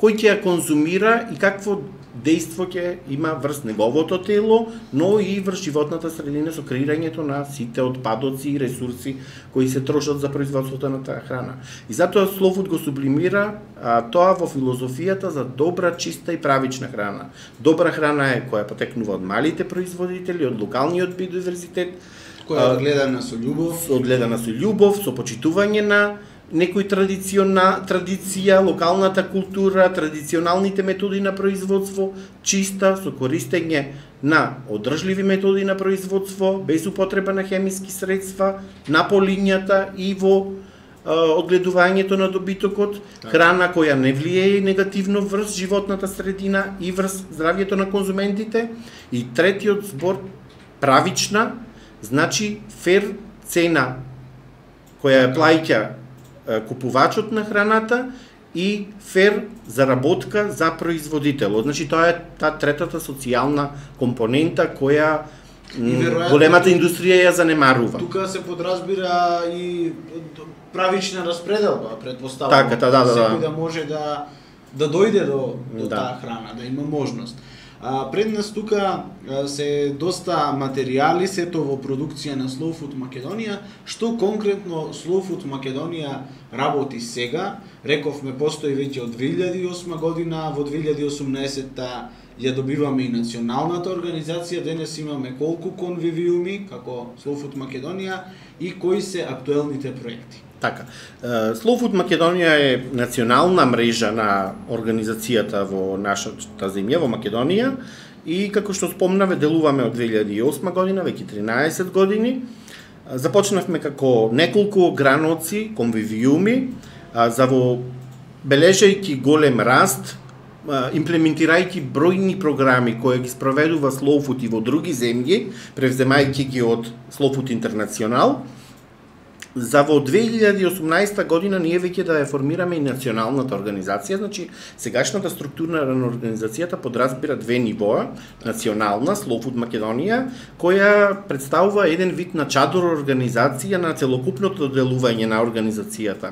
Speaker 3: кој ќе ја конзумира и какво дејство ќе има врз неговото тело, но и врз животната средина со креирањето на сите отпадоци и ресурси кои се трошат за производството на таа храна. И затоа Slow Food го сублимира тоа во филозофијата за добра, чиста и правична храна. Добра храна е која потекнува од малите производители, од локалниот биодиверзитет,
Speaker 2: која одгледана со љубов,
Speaker 3: со љубов, со почитување на некој традиција, локалната култура, традиционалните методи на производство, чиста, со користење на одржливи методи на производство, без употреба на хемиски средства, на полињата и во одгледувањето на добитокот, храна која не влијае негативно врз животната средина и врз здравјето на конзументите. И третиот збор, правична, значи фер цена која ја плаќа купувачот на храната и фер заработка за производителот. Значи тоа е таа третата социјална компонента која големата индустрија ја занемарува.
Speaker 2: Тука се подразбира и правична распределба, претпоставувам.
Speaker 3: Така, да.
Speaker 2: Секој да може да дојде до таа храна, да има можност. Пред нас тука се доста материјали, сето во продукција на Slow Food Македонија. Што конкретно Slow Food Македонија работи сега? Рековме, постои веќе од 2008 година, во 2018-та ја добиваме и националната организација, денес имаме колку конвивиуми како Slow Food Македонија и кои се актуелните проекти?
Speaker 3: Така, Slow Food Македонија е национална мрежа на организацијата во нашата земја, во Македонија, и како што спомнаве, делуваме од 2008 година, веќе 13 години. Започнавме како неколку граноци, конвивиуми, за во бележајќи голем раст, имплементирајќи бројни програми кои ги спроведува Slow Food и во други земји, превземајќи ги од Slow Food Интернационал. За во 2018 година ние веќе да ја формираме и националната организација, значи сегашната структура на организацијата подразбира две нивоа, национална, Slow Food Македонија, која представува еден вид на чадор организација на целокупното делување на организацијата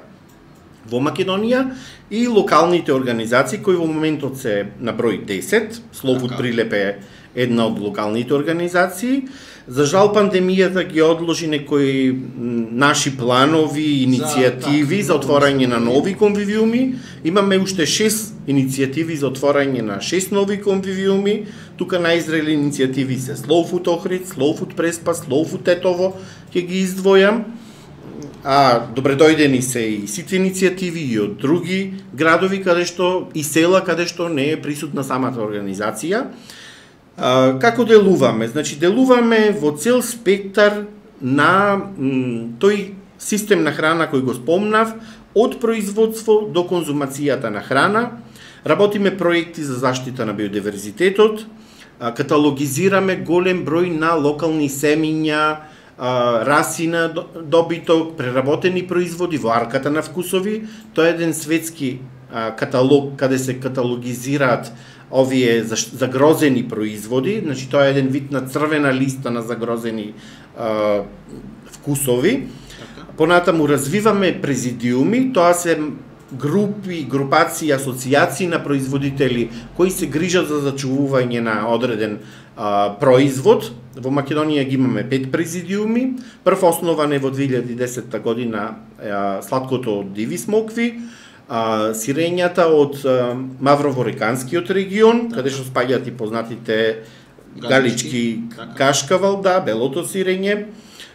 Speaker 3: во Македонија и локалните организации кои во моментот се на број 10, Slow Food Прилеп е една од локалните организации. За жал пандемијата ги одложи некои наши планови, иницијативи за отворање на нови конвивиуми. Имаме уште 6 иницијативи за отворање на 6 нови конвивиуми. Тука најзрели иницијативи се Slow Food Охрид, Slow Food Преспа, Slow Food Тетово, ќе ги издвојам. Добредојдени се и сите иницијативи и од други градови и села каде што не е присутна самата организација. Како делуваме? Значи, делуваме во цел спектар на тој систем на храна кој го спомнав, од производство до конзумацијата на храна. Работиме проекти за заштита на биодиверзитетот, каталогизираме голем број на локални семиња, раси на добиток, преработени производи во арката на вкусови. Тоа е еден светски каталог каде се каталогизираат овие загрозени производи, значи тоа е еден вид на црвена листа на загрозени вкусови. Понатаму развиваме президиуми, тоа се групи, групации, асоцијации на производители кои се грижат за зачувување на одреден производ, во Македонија ги имаме 5 президиуми. Прв основан е во 2010 година сладкото од диви смокви, сирењата од Маврово-Реканскиот регион, каде што спаѓаат и познатите галички кашкавал, белото сирење.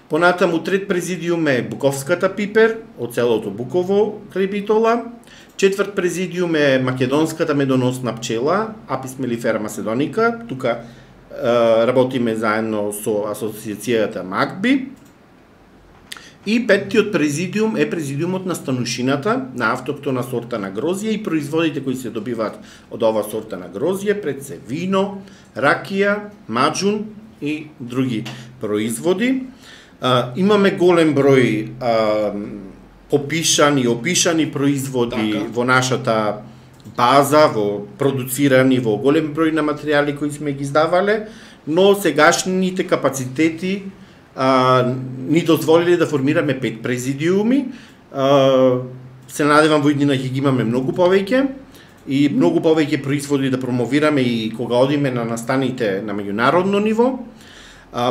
Speaker 3: Понатаму трет президиум е буковската пипер од селото Буково крај Битола. Четврт президиум е македонската медоносна пчела, Апис мелифера macedоnica. Тука работиме заедно со асоциацијата МАКБИ. И петтиот президиум е президиумот на станушината, на автоктона сорта на грозје и производите кои се добиваат од ова сорта на грозје, пред се вино, ракија, маџун и други производи. Имаме голем број опишани производи во нашата база, продуцирани во голем број на материјали кои сме ги издавале, но сегашните капацитети ни дозволиле да формираме 5 президиуми. Се надевам во иднина ќе ги имаме многу повеќе и многу повеќе производи да промовираме и кога одиме на настаните на меѓународно ниво.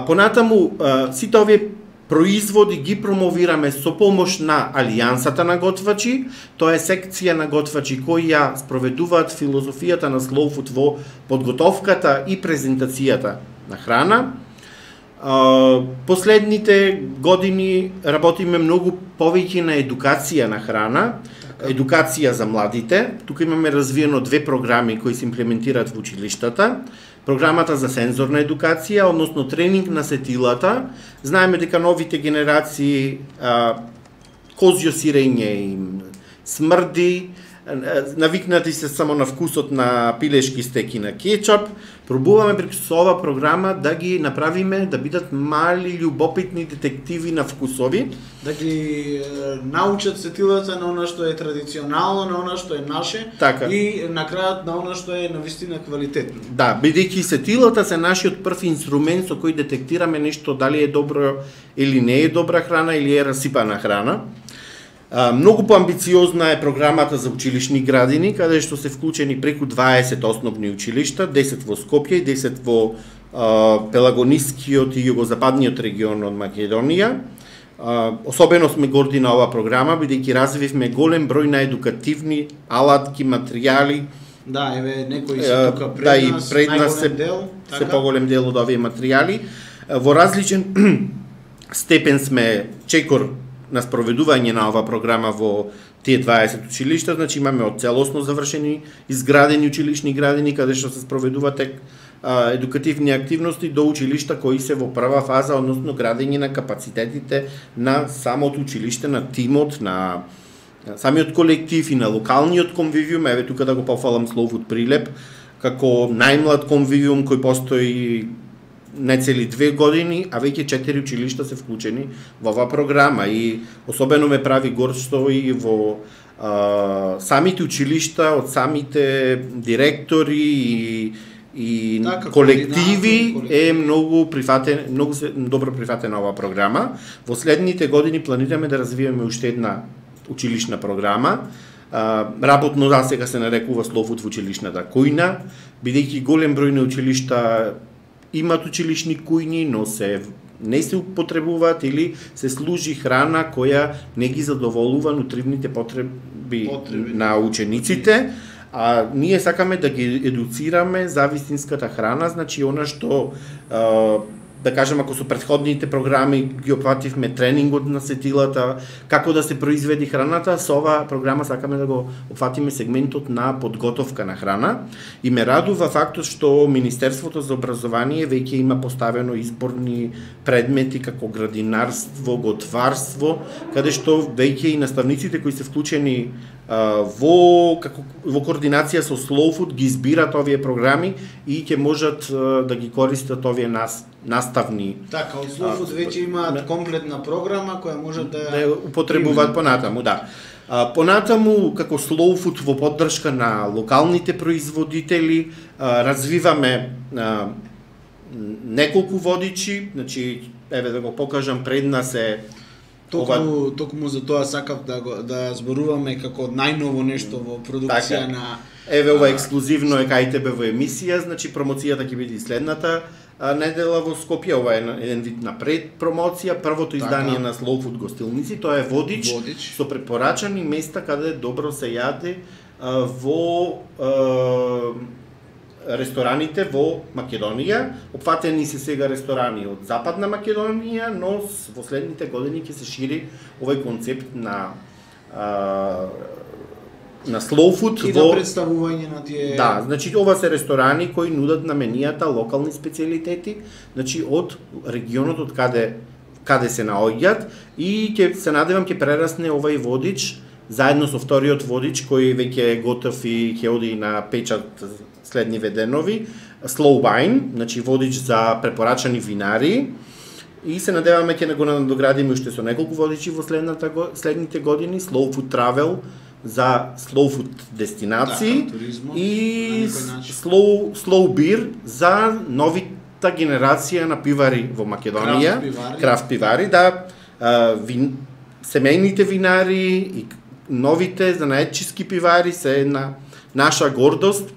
Speaker 3: Понатаму, сите овие производи ги промовираме со помош на Алијансата на готвачи. Тоа е секција на готвачи кои ја спроведуваат филозофијата на Slow Food во подготовката и презентацијата на храна. Последните години работиме многу повеќе на едукација на храна, едукација за младите. Тука имаме развиено 2 програми кои се имплементираат во училиштата. Програмата за сензорна едукација, односно тренинг на сетилата. Знаеме дека новите генерации козјо сирење им смрди, навикнати се само на вкусот на пилешки стеки на кетчап. Пробуваме преку со ова програма да ги направиме да бидат мали љубопитни детективи на вкусови,
Speaker 2: да ги научат сетилата на она што е традиционално, на она што е наше,
Speaker 3: така,
Speaker 2: и на крајот на она што е навистина квалитетно.
Speaker 3: Да, бидејќи сетилата се нашиот прв инструмент со кој детектираме нешто дали е добро или не е добра храна или е расипана храна. Многу поамбициозна е програмата за училишни градини, каде што се вклучени преку 20 основни училишта, 10 во Скопје и 10 во Пелагонискиот и југозападниот регион од Македонија. Особено сме горди на оваа програма, бидејќи развивме голем број на едукативни алатки, материјали.
Speaker 2: Да, еве некои се тука пред нас,
Speaker 3: се поголем дел од овие материјали. Во различен степен сме чекор на спроведување на оваа програма во тие 20 училишта, значи имаме од целосно завршени изградени училишни градини каде што се спроведуваат едукативни активности до училишта кои се во прва фаза, односно градење на капацитетите на самото училиште, на тимот, на самиот колектив и на локалниот конвивиум. Еве тука да го пофалам Slow Food Прилеп како најмлад конвивиум кој постои не цели 2 години, а веќе 4 училишта се вклучени во оваа програма и особено ме прави гордо и во самите училишта, од самите директори и колективи е многу прифатен, многу добро прифатена оваа програма. Во следните години планираме да развиеме уште една училишна програма. Работно за сега се нарекува Slow Food во училишната кујна, бидејќи голем број на училишта имат училишни кујни, но не се употребуваат или се служи храна која не ги задоволува нутривните потреби на учениците, а ние сакаме да ги едуцираме за вистинската храна, значи она што да кажем, ако со претходните програми ги опфативме тренингот на сетилата, како да се произведи храната, со оваа програма сакаме да го опфатиме сегментот на подготовка на храна. И ме радува фактот што Министерството за образование веќе има поставено изборни предмети како градинарство, готварство, каде што веќе и наставниците кои се вклучени во координација со Slow Food ги избират овие програми и ќе можат да ги користат овие наставни.
Speaker 2: Така, од Slow Food веќе имаат комплетна програма која може да
Speaker 3: употребуваат понатаму, да. Понатаму, како Slow Food во поддршка на локалните производители, развиваме неколку водичи, значи, еве да го покажам, пред нас е
Speaker 2: Токму за тоа сакав да зборуваме како најново нешто во продукција на
Speaker 3: Еве ова ексклузивно е кај тебе во емисија, значи промоцијата ќе биде следната недела во Скопје, ова е еден вид на предпромоција, првото издание на Slow Food гостилници, тоа е водич со препорачани места каде добро се јаде во рестораните во Македонија. Опфатени се сега ресторани од Западна Македонија, но во следните години ќе се шири овој концепт на slow food
Speaker 2: и
Speaker 3: во
Speaker 2: представување на тие.
Speaker 3: Да, значи ова се ресторани кои нудат на менијата локални специјалитети, значи од регионот од каде се наоѓаат и ќе се надевам ќе прерасне овај водич заедно со вториот водич кој веќе е готов и ќе оди на печат следни веденови, Slow Wine, значи водич за препорачани винари. И се надеваме ќе го надоградиме уште со неколку водичи во следните години, Slow Food Travel за slow food дестинации и slow beer за новита генерација на пивари во Македонија, крафт пивари, да, семејните винари и новите занаетчиски пивари се една наша гордост,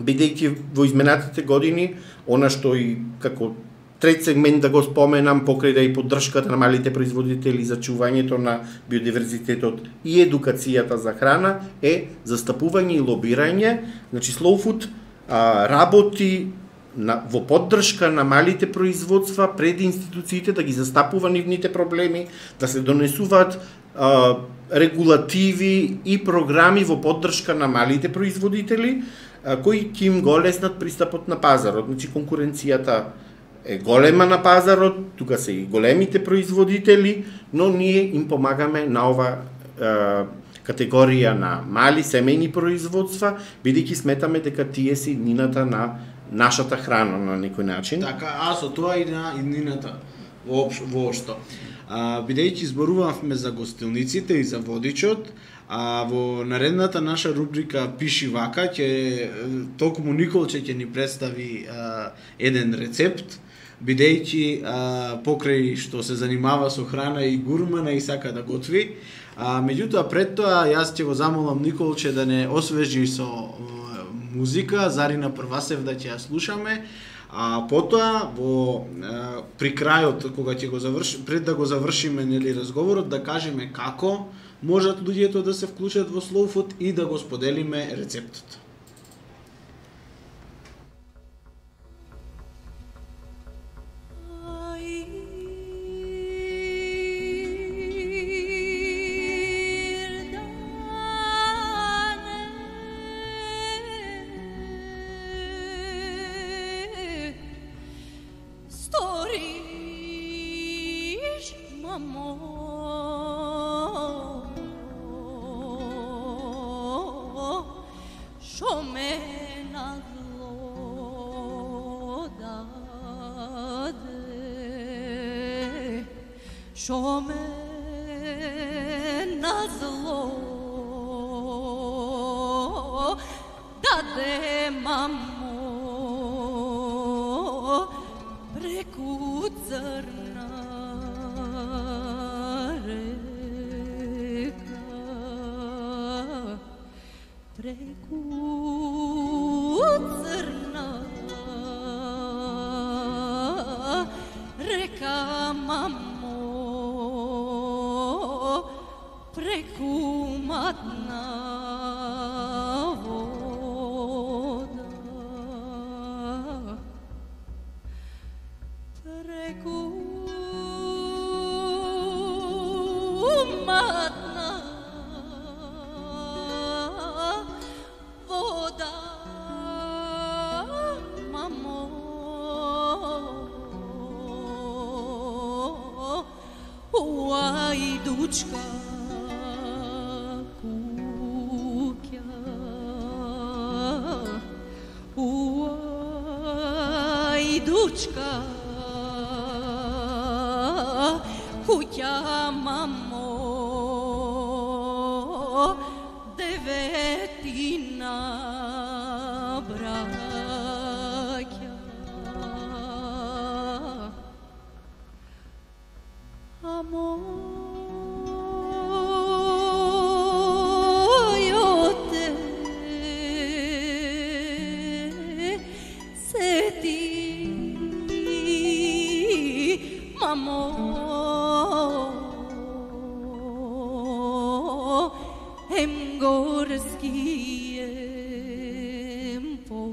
Speaker 3: бидејќи во изминатите години она што и како трет сегмент да го споменам, покрај да и поддршката на малите производители за чувањето на биодиверзитетот и едукацијата за храна е застапување и лобирање. Значи Slow Food работи во поддршка на малите производства пред институциите да ги застапува нивните проблеми, да се донесуваат регулативи и програми во поддршка на малите производители кои ќе им го леснат пристапот на пазарот. Значи конкуренцијата е голема на пазарот, тука се и големите производители, но ние им помагаме на ова категорија на мали семејни производства, бидејќи сметаме дека тие се иднината на нашата храна на некој начин.
Speaker 2: Така, со тоа и на иднината воопшто. Бидејќи зборувавме за гостилниците и за водичот, во наредната наша рубрика Пиши вака токму Николче ќе ни представи еден рецепт, бидејќи покрај што се занимава со храна и гурмана и сака да готви. Меѓутоа пред тоа јас ќе го замолам Николче да не освежи со музика, Зарина Првасев да ќе ја слушаме. Потоа при крајот кога ќе го пред да го завршиме разговорот да кажеме како можат луѓето да се вклучат во Slow Food и да го споделиме рецептот.
Speaker 4: Šo me na zlo dade mamo preku crna reka preku crna reka mamo preku matna voda preku matna voda mamo Ajdučka kuća Ajdučka kuća mamo devetina braća amor мамо, ем горски, ем полски.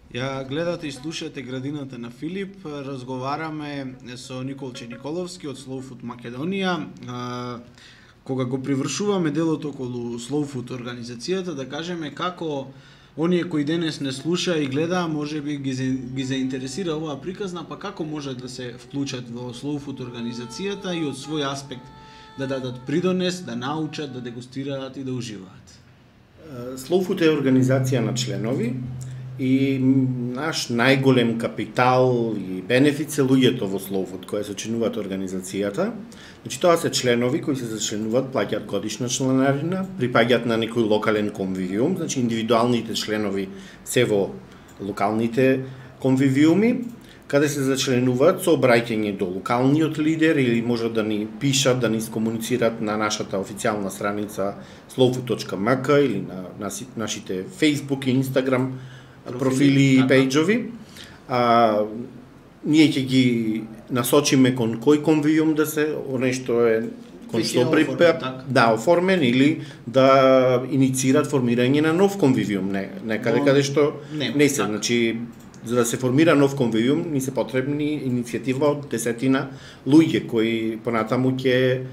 Speaker 2: Ја гледате и слушате Градината на Филип. Разговараме со Николче Николовски од Slow Food Македонија. Кога го привршуваме делот околу Slow Food организацијата, да кажеме како оние кои денес не слуша и гледа, можеби ги заинтересира оваа приказна, па како може да се вклучат во Slow Food организацијата и од свој аспект да дадат придонес, да научат, да дегустираат и да уживаат.
Speaker 3: Slow Food е организација на членови и наш најголем капитал и бенефит се луѓето во Slow Food кои се членуваат организацијата. Значи тоа се членови кои се зачленуваат, плаќаат годишна членарина, припаѓаат на некој локален конвивиум, значи индивидуалните членови се во локалните конвивиуми, каде се зачленуваат со обраќање до локалниот лидер или можат да ни пишат, да ни скомуницираат на нашата официјална страница slowfood.mk или на нашите Facebook и Instagram профили и пејџови. Ние ќе ги насочиме кон кој конвивиум да се, оне што е кон што оформен или да иницират формирање на нов конвивиум, некаде каде што не се, значи за да се формира нов конвивиум ни се потребни иницијатива од 10 луѓе кои понатаму ќе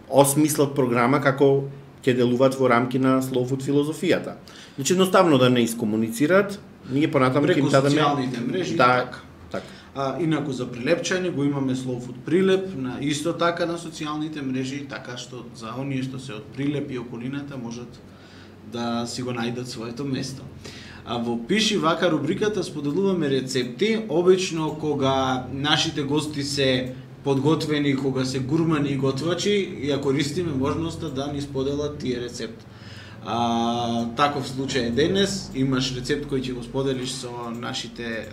Speaker 3: осмислат програма како ќе делуваат во рамки на Slow Food филозофијата. Значи едноставно да не искомуницираат, ние понатаму ќе им дадеме
Speaker 2: социјалните мрежи.
Speaker 3: така.
Speaker 2: Инаку за прилепчање го имаме Slow Food прилеп на исто така на социјалните мрежи, така што за оние што се од Прилеп и околината можат да си го најдат своето место. А во Пиши вака рубриката споделуваме рецепти, обично кога нашите гости се подготвени, кога се гурмани и готвачи, ја користиме можноста да ни споделат тие рецепти. Таков случај е денес, имаш рецепт кој ќе го споделиш со нашите,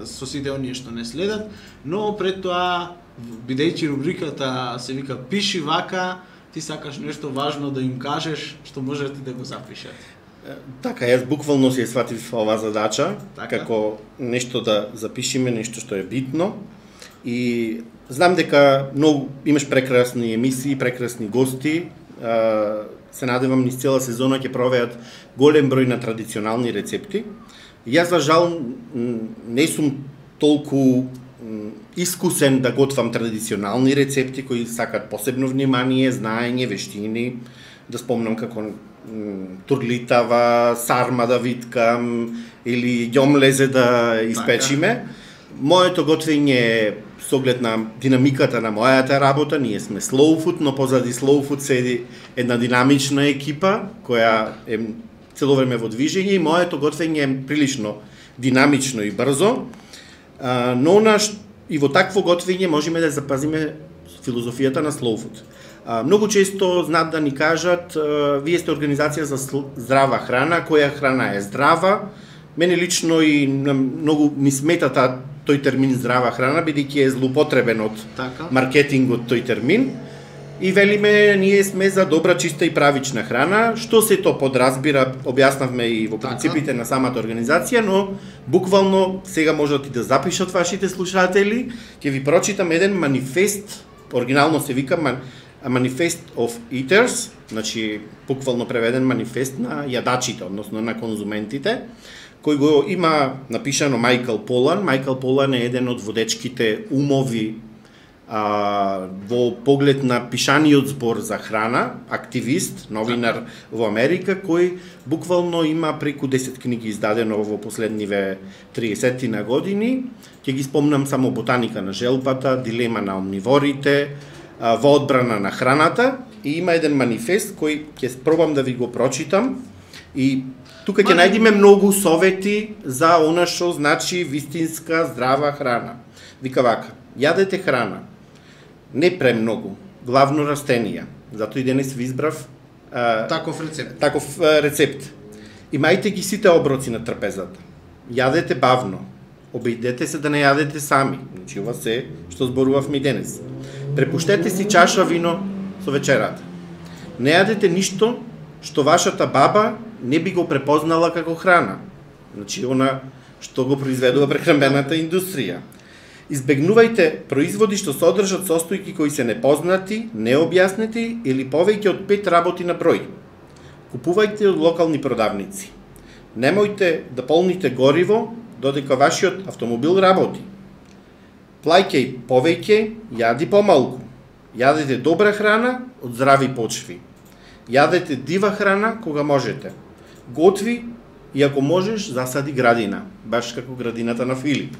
Speaker 2: со сите оние што не следат, но пред тоа, бидејќи рубриката се вика Пиши вака, ти сакаш нешто важно да им кажеш, што можете да го запишат.
Speaker 3: Така, јас буквално си ја сватив оваа задача, како нешто да запишиме, нешто што е битно. И знам дека имаш прекрасни емисии, прекрасни гости. Се надевам низ цела сезона ќе провеат голем број на традиционални рецепти. Јас за жал не сум толку искусен да готвам традиционални рецепти кои сакат посебно внимание, знаење, вештини. Да спомнам како турлитава, сарма да виткам или ѓомлезе да испечиме. Моето готвење е со оглед на динамиката на мојата работа, ние сме Slow Food, но позади Slow Food седи една динамична екипа која е цело време во движење и моето готвење е прилично динамично и брзо. Но и во такво готвење можеме да запазиме филозофијата на Slow Food. Многу често знаат да ни кажат, вие сте организација за здрава храна, која храна е здрава. Мене лично и многу ми смета тој термин здрава храна, бидејќи е злоупотребен од маркетингот тој термин. И велиме, ние сме за добра, чиста и правична храна, што се то подразбира, објаснавме и во принципите на самата организација, но буквално сега можат и да запишат вашите слушатели, ќе ви прочитам еден манифест, оригинално се вика A Manifest of Eaters, значи буквално преведен манифест на јадачите, односно на конзументите, кој го има напишано Майкл Полан. Майкл Полан е еден од водечките умови во поглед на пишаниот збор за храна, активист, новинар во Америка, кој буквално има преку 10 книги издадено во последниве 30 на години. Ќе ги спомнам само Ботаника на желбата, Дилема на омниворите, Во одбрана на храната, и има еден манифест кој ќе пробам да ви го прочитам, и тука ќе најдеме многу совети за она што значи вистинска здрава храна. Вика вака: јадете храна, не премногу, главно растенија. Затоа и денес ви избрав таков рецепт. Имајте ги сите оброци на трпезата. Јадете бавно. Обидете се да не јадете сами. Значи ова се што зборувавме денес. Препуштете си чаша вино со вечерата. Не јадете ништо што вашата баба не би го препознала како храна. Значи она што го произведува прехранбената индустрија. Избегнувајте производи што содржат состојки кои се непознати, необјаснети или повеќе од 5 работи на број. Купувајте од локални продавници. Немојте да полните гориво додека вашиот автомобил работи. Плаќај повеќе, јади помалку. Јадете добра храна од здрави почви. Јадете дива храна кога можете. Готви и ако можеш засади градина, баш како градината на Филип.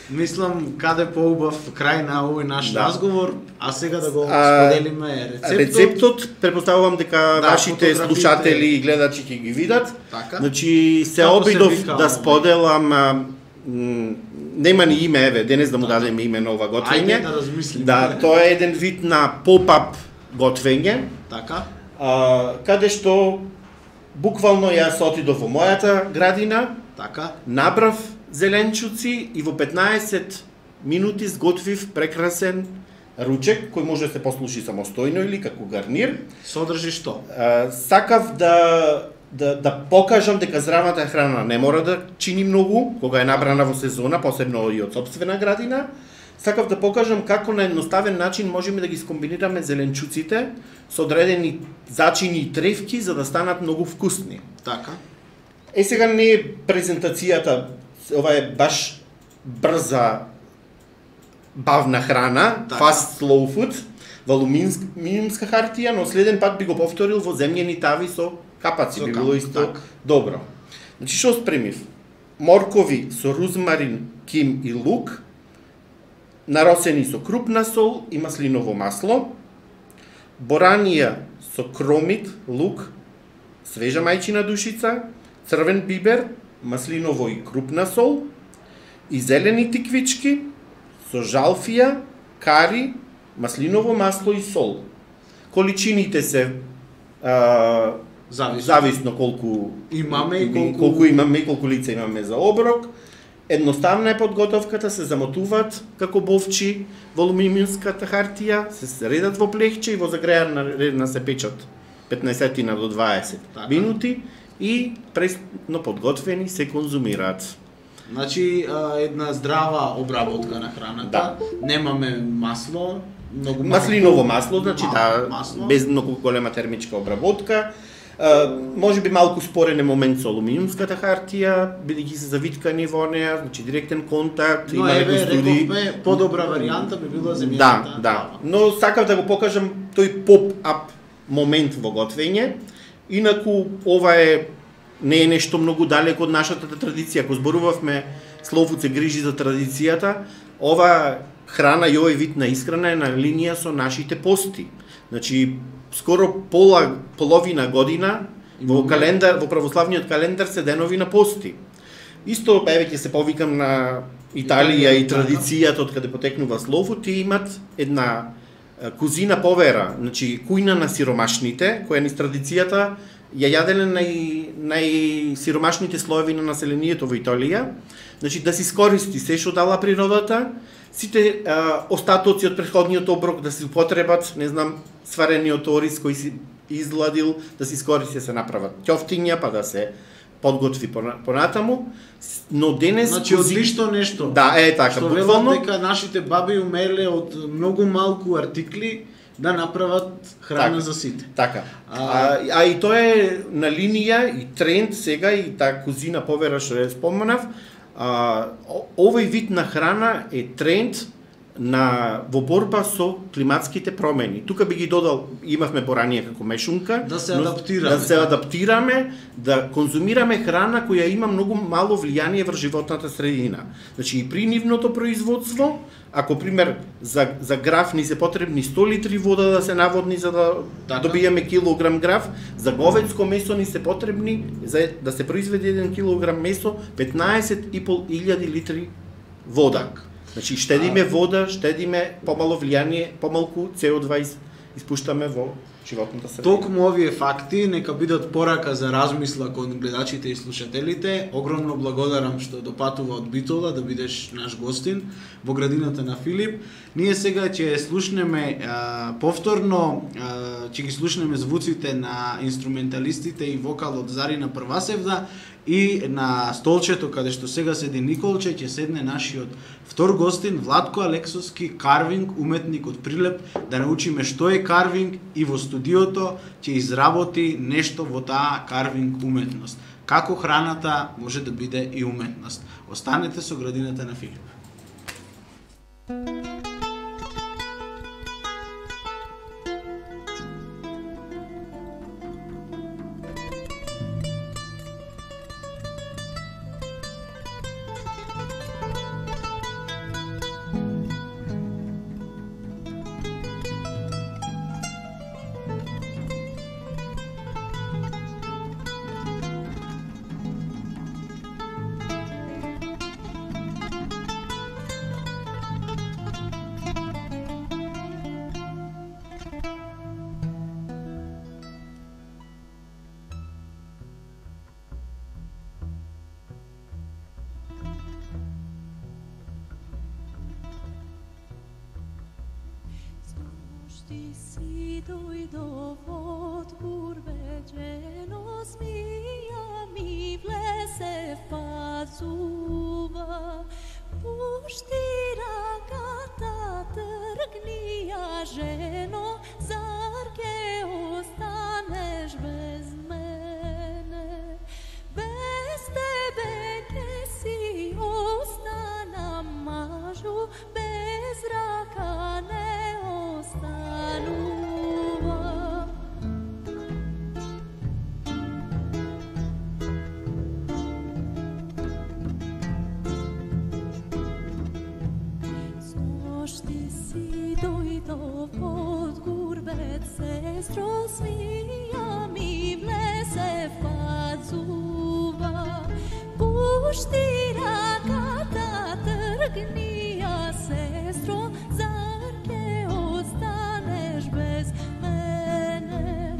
Speaker 2: Мислам каде поубав крај на овој наш разговор, а сега да го споделиме рецептот.
Speaker 3: Рецептот претпоставувам дека вашите слушатели и гледачи ќе ги видат.
Speaker 2: Така.
Speaker 3: Значи се обидов да споделам, нема ни име, еве, денес да му дадеме име на ова готвење.
Speaker 2: Ајде да размислиме.
Speaker 3: Да, тоа е еден вид на поп-ап готвење.
Speaker 2: Така.
Speaker 3: Каде што буквално јас отидов во мојата градина,
Speaker 2: така,
Speaker 3: набрав зеленчуци и во 15 минути сготвив прекрасен ручек кој може да се послуши самостојно или како гарнир.
Speaker 2: Содржи што?
Speaker 3: Сакав да покажам дека здравата храна не мора да чини многу кога е набрана во сезона, посебно и од сопствена градина. Сакав да покажам како на едноставен начин можеме да ги скомбинираме зеленчуците со одредени зачини и тревки за да станат многу вкусни.
Speaker 2: Така.
Speaker 3: Сега не е презентацијата, ова е баш брза, бавна храна, така. Fast slow food, во алуминиумска хартија, но следен пат би го повторил во земјени тави со капаци, би било исто так. Добро. Значи, што спремив? Моркови со рузмарин, ким и лук, наросени со крупна сол и маслиново масло, боранија со кромит, лук, свежа мајчина душица, црвен бибер, маслиново и крупна сол, и зелени тиквички со жалфија, кари, маслиново масло и сол. Количините се зависно колку
Speaker 2: имаме и
Speaker 3: колку лица имаме за оброк. Едноставна е подготовката, се замотуваат како бовчи во алуминиумската хартија, се редат во плехче и во загрејана редна се печат 15 до 20 така. Минути и пресно подготвени се конзумираат.
Speaker 2: Значи една здрава обработка на храната. Да. Немаме масло, многу
Speaker 3: маслиново масло, значи масло. Без многу голема термичка обработка. Може би малку спорен е момент со алуминиумската хартија, бидејќи се завиткани во неа, значи директен контакт,
Speaker 2: има некои студии. Рековме, подобра варијанта би била земјаната.
Speaker 3: Да. Но сакав да го покажам тој поп-ап момент во готвење. Инаку ова не е нешто многу далеко од нашата традиција. Ако зборувавме Словуд се грижи за традицијата, ова храна и овој вид на исхрана е на линија со нашите пости. Значи скоро половина година во православниот календар се денови на пости. Исто еве ќе се повикам на Италија и традицијата од каде потекнува Словуд, тие имат една кузина повера, значи кујна на сиромашните, која низ традицијата ја јаделе најсиромашните слоеви на населението во Италија, значи да се искористи се што дала природата, сите остатоци од претходниот оброк да се употребат, не знам, сварениот ориз кој си изладил, да се искористи, се направат ќофтиња, па да се подготви понатаму, но денес...
Speaker 2: Значи, одлично нешто.
Speaker 3: Да, така,
Speaker 2: што буквално... дека нашите баби умеле од многу малку артикли да направат храна
Speaker 3: Така.
Speaker 2: за сите.
Speaker 3: Така. А и тоа е на линија и тренд сега и таа кузина повера што ја споменав. Овој вид на храна е тренд во борба со климатските промени. Тука би ги додал, имавме поранije како мешунка,
Speaker 2: Да се адаптираме.
Speaker 3: Да се адаптираме, да конзумираме храна која има многу мало влијание врз животната средина. Значи и при нивното производство, ако пример за граф ни се потребни 100 литри вода да се наводни за да добиеме килограм граф, за говедско месо ни се потребни за да се произведе 1 килограм месо 15.500 литри вода. Значи штедиме вода, штедиме помало влијание, помалку CO2 испуштаме во животната средина.
Speaker 2: Токму овие факти нека бидат порака за размисла кон гледачите и слушателите. Огромно благодарам што допатува од Битола да бидеш наш гостин во градината на Филип. Ние сега ќе слушнеме повторно, ќе ги слушнеме звуците на инструменталистите и вокалот Зарина Првасевда и на столчето каде што сега седи Николче ќе седне нашиот втор гостин Владко Алексовски, карвинг уметник од Прилеп, да научиме што е карвинг и во студиото ќе изработи нешто во таа карвинг уметност. Како храната може да биде и уметност. Останете со градината на Филип.
Speaker 4: Ti si doјдов од бурбеџено, змија ми влезе в пазува. Пушти раката, тргни ја жено, зар ке останеш без мене? Без тебе ке си останам мажу, без рака не останува. Сношти си дојдов од гурбет, сестро, змија ми влезе в пазува. Пушти раката, тргни ја, сестро, зар ке останеш без мене?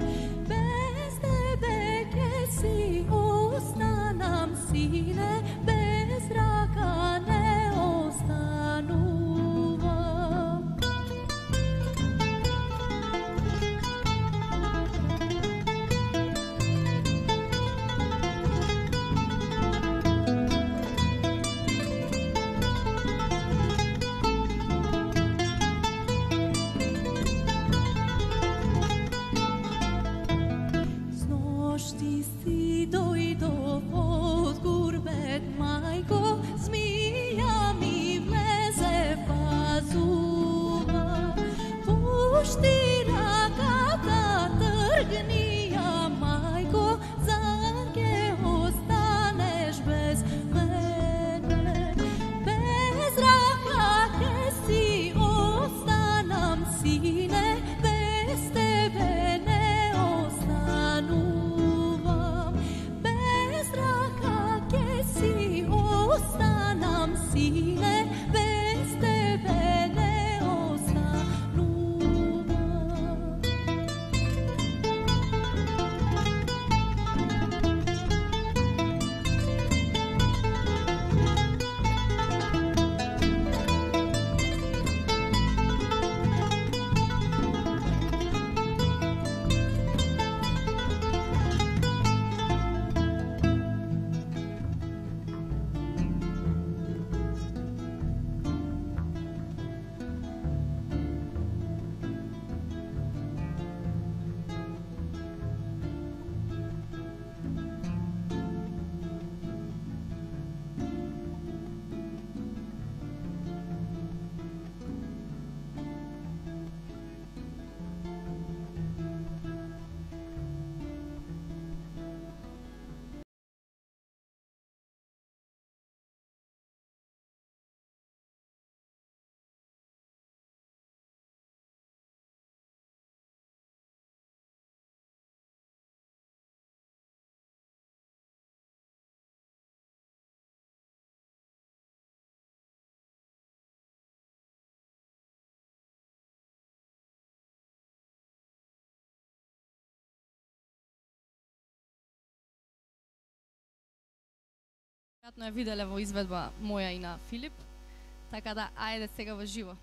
Speaker 4: Без тебе ке си останам, сине, без рака не останува.
Speaker 5: веројатно ја виделе во изведба моја и на Филип. Така да, ајде сега во живо.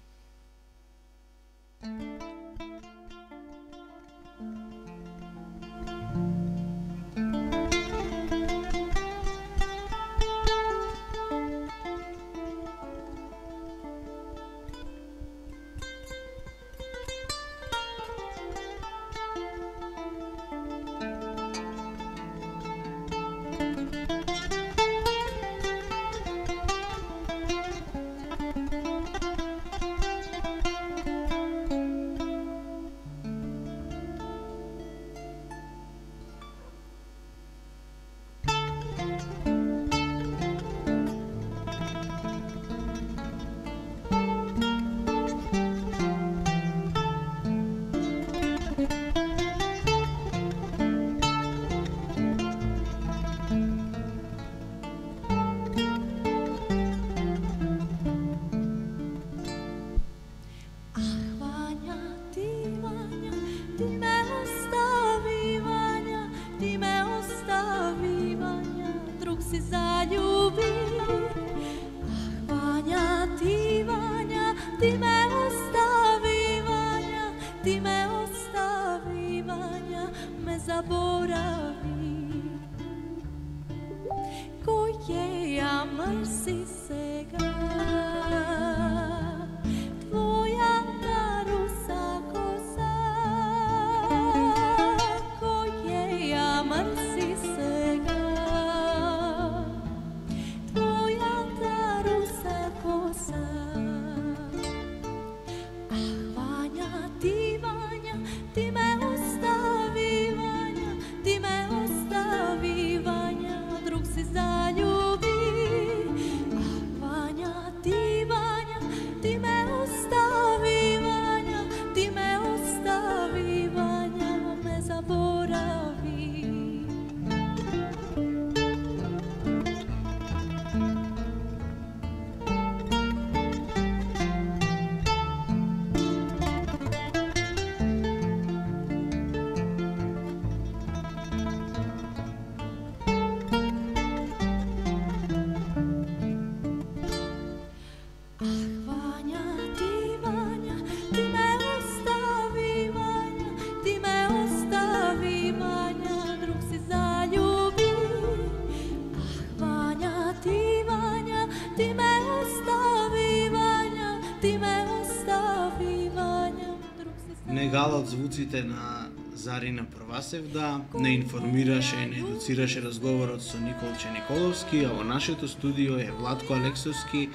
Speaker 2: Негалот звуците на Зарина Првасевда не информираше и не едуцираше разговорот со Николче Николовски, а во нашето студио е Владко Алексовски,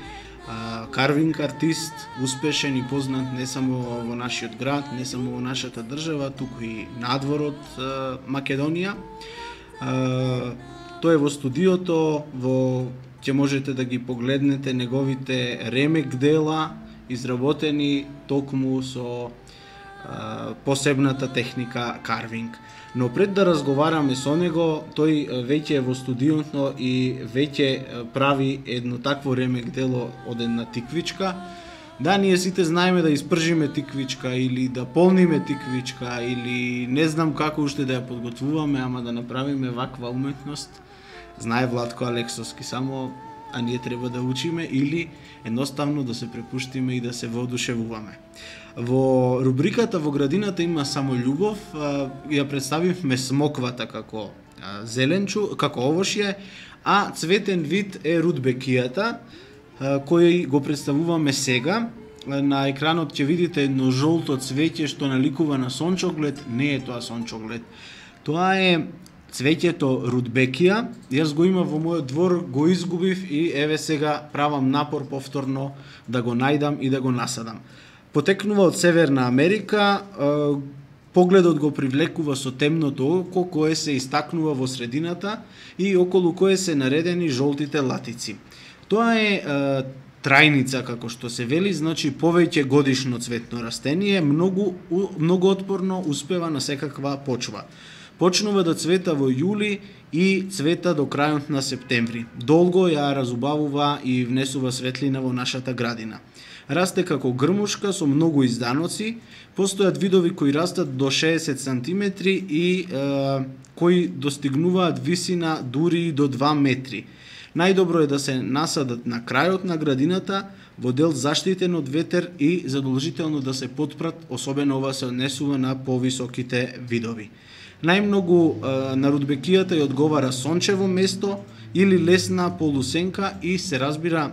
Speaker 2: карвинг артист, успешен и познат не само во нашиот град, не само во нашата држава, туку и надвор од Македонија. Тој е во студиото, ќе можете да ги погледнете неговите ремек дела, изработени токму со посебната техника карвинг. Но пред да разговараме со него, тој веќе е во студиото и веќе прави едно такво ремек дело од една тиквичка. Да, ние сите знаеме да испржиме тиквичка или да полниме тиквичка или не знам како уште да ја подготвуваме, ама да направиме ваква уметност. Знае Владко Алексовски само, а ние треба да учиме или едноставно да се препуштиме и да се воодушевуваме. Во рубриката Во градината има само љубов, ја представивме смоквата како зеленчу, како овошје, а цветен вид е рудбекијата, кој го представуваме сега. На екранот ќе видите едно жолто цвеќе што наликува на сончоглед, не е тоа сончоглед. Тоа е цвеќето рудбекија. Јас го имам во мојот двор, го изгубив и еве сега правам напор повторно да го најдам и да го насадам. Потекнува од Северна Америка, погледот го привлекува со темното око кое се истакнува во средината и околу кое се наредени жолтите латици. Тоа е трајница, како што се вели, значи повеќе годишно цветно растение, многу отпорно, успева на секаква почва. Почнува да цвета во јули и цвета до крајот на септември. Долго ја разубавува и внесува светлина во нашата градина. Расте како грмушка со многу изданоци, постојат видови кои растат до 60 см и кои достигнуваат висина дури до 2 метри. Најдобро е да се насадат на крајот на градината во дел заштитен од ветер и задолжително да се потпрат, особено ова се однесува на повисоките видови. Најмногу на рудбекијата ја одговара сончево место или лесна полусенка и се разбира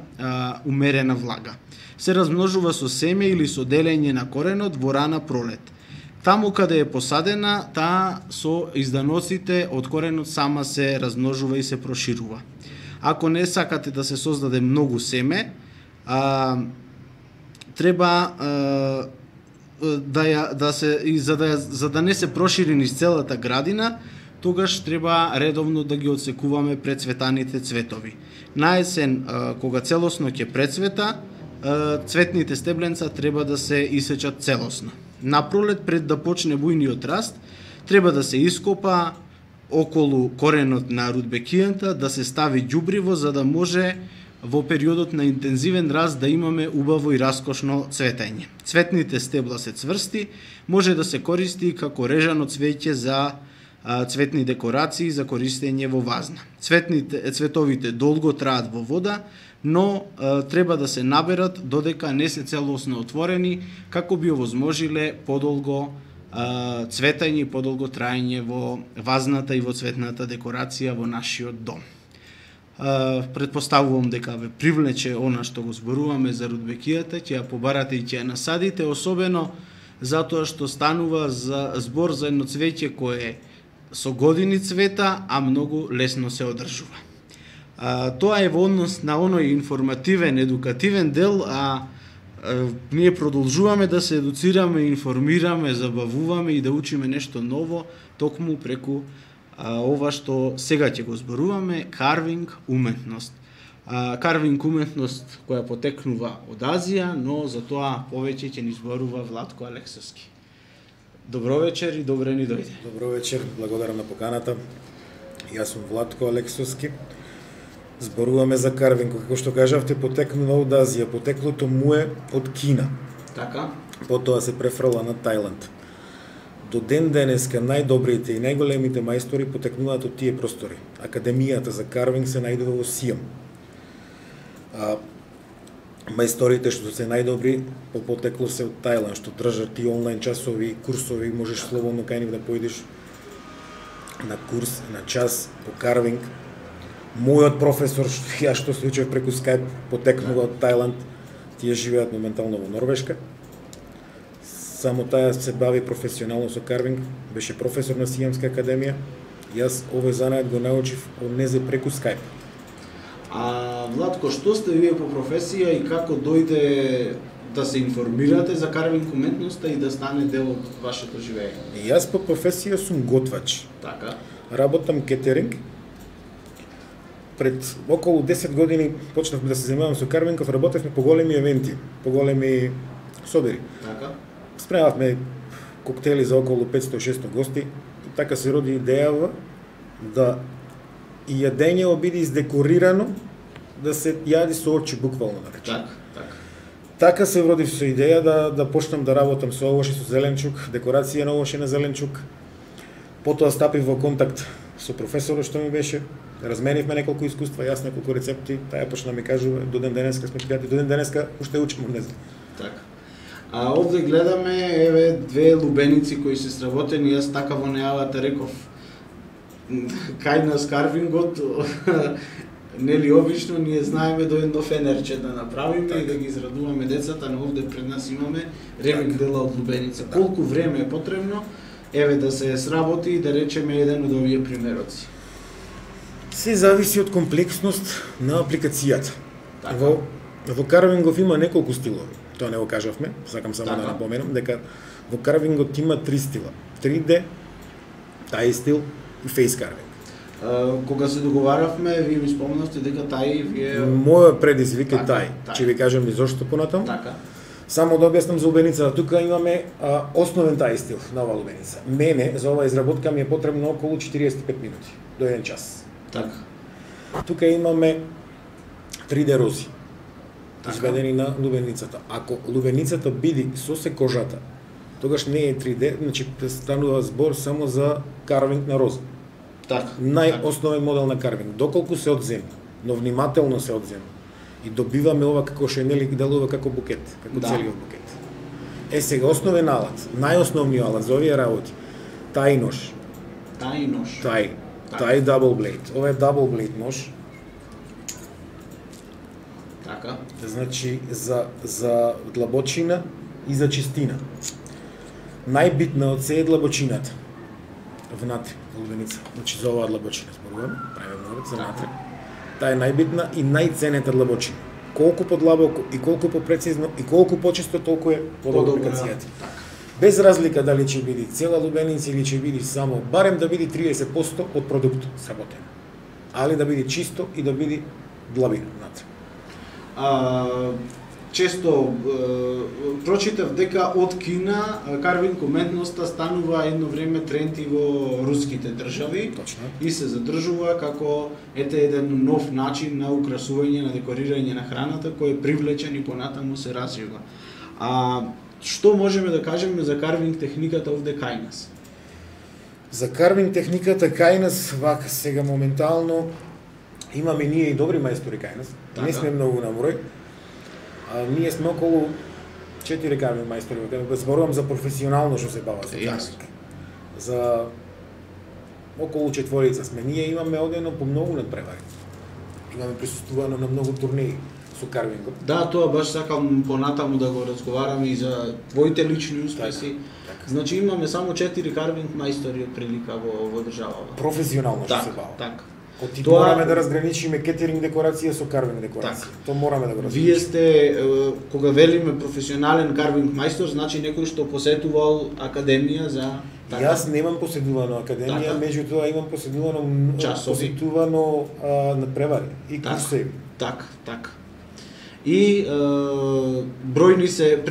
Speaker 2: умерена влага. Се размножува со семе или со делење на коренот во рана пролет. Таму каде е посадена, таа со изданоците од коренот сама се размножува и се проширува. Ако не сакате да се создаде многу семе, треба за да не се прошири низ целата градина, тогаш треба редовно да ги одсекуваме прецветаните цветови. На есен, кога целосно ќе прецвета, цветните стебленца треба да се исечат целосно. На пролет, пред да почне бујниот раст, треба да се ископа околу коренот на рудбекијата, да се стави ѓубриво за да може во периодот на интензивен раст да имаме убаво и раскошно цветење. Цветните стебла се цврсти, може да се користи како режано цвеќе за цветни декорации за користење во вазна. Цветовите долго траат во вода, но треба да се наберат додека не се целосно отворени, како би овозможиле подолго цветење и подолго траење во вазната и во цветната декорација во нашиот дом. Предпоставувам дека ве привлече она што го зборуваме за рудбекијата, ќе ја побарате и ќе ја насадите, особено затоа што станува за збор за едно цвеќе кое со години цвета, а многу лесно се одржува. Тоа е во однос на оној информативен, едукативен дел, ние продолжуваме да се едуцираме, информираме, забавуваме и да учиме нешто ново, токму преку ова што сега ќе го зборуваме, карвинг уметност. Карвинг уметност која потекнува од Азија, но за тоа повеќе ќе ни зборува Владко Алексовски. Добро вечер и добре ни дојде.
Speaker 6: Добро вечер, благодарам на поканата. Јас сум Владко Алексовски. Зборуваме за карвинг, како што кажавте, потекнува од Азија. Потеклото му е од Кина.
Speaker 2: Така.
Speaker 6: Потоа се префрла на Тајланд. До ден денеска најдобрите и најголемите мајстори потекнуваат од тие простори. Академијата за карвинг се најдува во Сијам. Мајсторите што се најдобри по потекло се од Тајланд, што држат и онлайн часови, курсови, можеш слободно кај нив да поидеш на курс, на час по карвинг. Мојот професор, јас што се учев преку Skype, потекнува од Тајланд, тие живеат моментално во Норвешка. Само таја се бави професионално со карвинг, беше професор на Сијамска академија. Јас овој занает го научив од незе преку Skype.
Speaker 2: Владко, што сте вие по професија и како дојде да се информирате за карвинг уметноста и да стане дел од вашето живење?
Speaker 6: Јас по професија сум готвач.
Speaker 2: Така.
Speaker 6: Работам кетеринг. Пред околу 10 години почнавме да се занимавам со карвинг, работевме по големи евенти, по големи собери.
Speaker 2: Така.
Speaker 6: Спремавме коктели за околу 500-600 гости и така се роди идејава да и јадењето биде издекорирано, да се јади со очи буквално наречено.
Speaker 2: Так.
Speaker 6: Така се родив со идеја да почнам да работам со овоше, со зеленчук, декорација на овоше на зеленчук. Потоа стапив во контакт со професорот што ми беше, разменивме неколку искуства, јас неколку рецепти, таја почна да ми кажува, до ден денеска сме пријатели, до ден денеска уште учам од незе.
Speaker 2: Така. Овде гледаме еве две лубеници кои се сработени, јас така во најавата реков кај нас карвингот, нели обично ние знаеме до едно фенерче да направиме и да ги израдуваме децата, но овде пред нас имаме ремик дела од лубеница. Колку време е потребно еве да се сработи и да речеме еден од овие примероци?
Speaker 6: Се зависи од комплексност на апликацијата.
Speaker 2: Така.
Speaker 6: Во карвингов има неколку стилови. Тоа не го кажавме, сакам само
Speaker 2: така
Speaker 6: да напоменам дека во карвингот има 3 стила. 3D, тај стил и фейс карвинг.
Speaker 2: Кога се договаравме, вие ми спомнавте дека тај вие...
Speaker 6: Мојот предизвик е
Speaker 2: Така,
Speaker 6: тај.
Speaker 2: тај.
Speaker 6: Ќе ви кажам и зошто понатаму.
Speaker 2: Така.
Speaker 6: Само да објаснам за лубеницата. Тука имаме основен тај стил на оваа лубеница. Мене за оваа изработка ми е потребно околу 45 минути до 1 час.
Speaker 2: Така.
Speaker 6: Тука имаме 3D рози.
Speaker 2: Така.
Speaker 6: Изведени на лубеницата. Ако лубеницата биде со секожата, тогаш не е 3D, значи станува збор само за карвинг на роза.
Speaker 2: Така.
Speaker 6: Најосновен модел на карвинг, доколку се од земја. но внимателно се одзема. И добиваме ова како што нели делува како букет, како
Speaker 2: Да.
Speaker 6: целиот букет. Сега основен алат, најосновниот алат за овие работи, тај нож,
Speaker 2: Тај нож.
Speaker 6: тај double blade. Ова е double blade нож,
Speaker 2: Така.
Speaker 6: значи за длабочина и за чистина. Најбитна од се е длабочината. Внатре, лубеница. Значи за оваа длабочина зборувам, правиме много за внатре. Таа е најбитна и најценета длабочина. Колку подлабоко и колку попрецизно и колку почисто, толку е подобра апликацијата.
Speaker 2: Така.
Speaker 6: Без разлика дали ќе биде цела лубеница или ќе биде само барем да биде 30% од продуктот сработен. Али да биде чисто и да биде длабина внатре.
Speaker 2: Често прочитав дека од Кина карвинг уметноста станува едно време тренд и во руските држави.
Speaker 6: Точно.
Speaker 2: И се задржува како еден нов начин на украсување, на декорирање на храната кој е привлечен и понатаму се развива. Што можеме да кажеме за карвинг техниката овде кај нас?
Speaker 6: За карвинг техниката кај нас вака сега моментално имаме ние и добри мајстори кај нас.
Speaker 2: Така.
Speaker 6: Не сме многу на број. Ние сме околу 4 карвинг мајстори, кога зборувам за професионално што се бава со карвинг. За околу 4 сме. Ние имаме одено по многу надпревари. Имаме присуствувано на многу турнеи со карвингот.
Speaker 2: Да, тоа баш сакам понатаму да го разговараме и за твоите лични успеси.
Speaker 6: Така.
Speaker 2: Значи имаме само 4 карвинг мајстори од прилика во државава.
Speaker 6: Професионално што се
Speaker 2: Така,
Speaker 6: бава.
Speaker 2: така.
Speaker 6: Оти
Speaker 2: Тоа-
Speaker 6: мораме да разграничиме кетеринг декорација со карвинг декорација.
Speaker 2: Така.
Speaker 6: Тоа мораме да го разграничиме.
Speaker 2: Вие сте, кога велиме професионален карвинг мајстор, значи некој што посетувал академија за...
Speaker 6: Јас немам поседувано академија,
Speaker 2: Така.
Speaker 6: меѓутоа имам поседувано
Speaker 2: Часови.
Speaker 6: посетувано надпревари и
Speaker 2: Така.
Speaker 6: курсеви.
Speaker 2: Так. И бројни се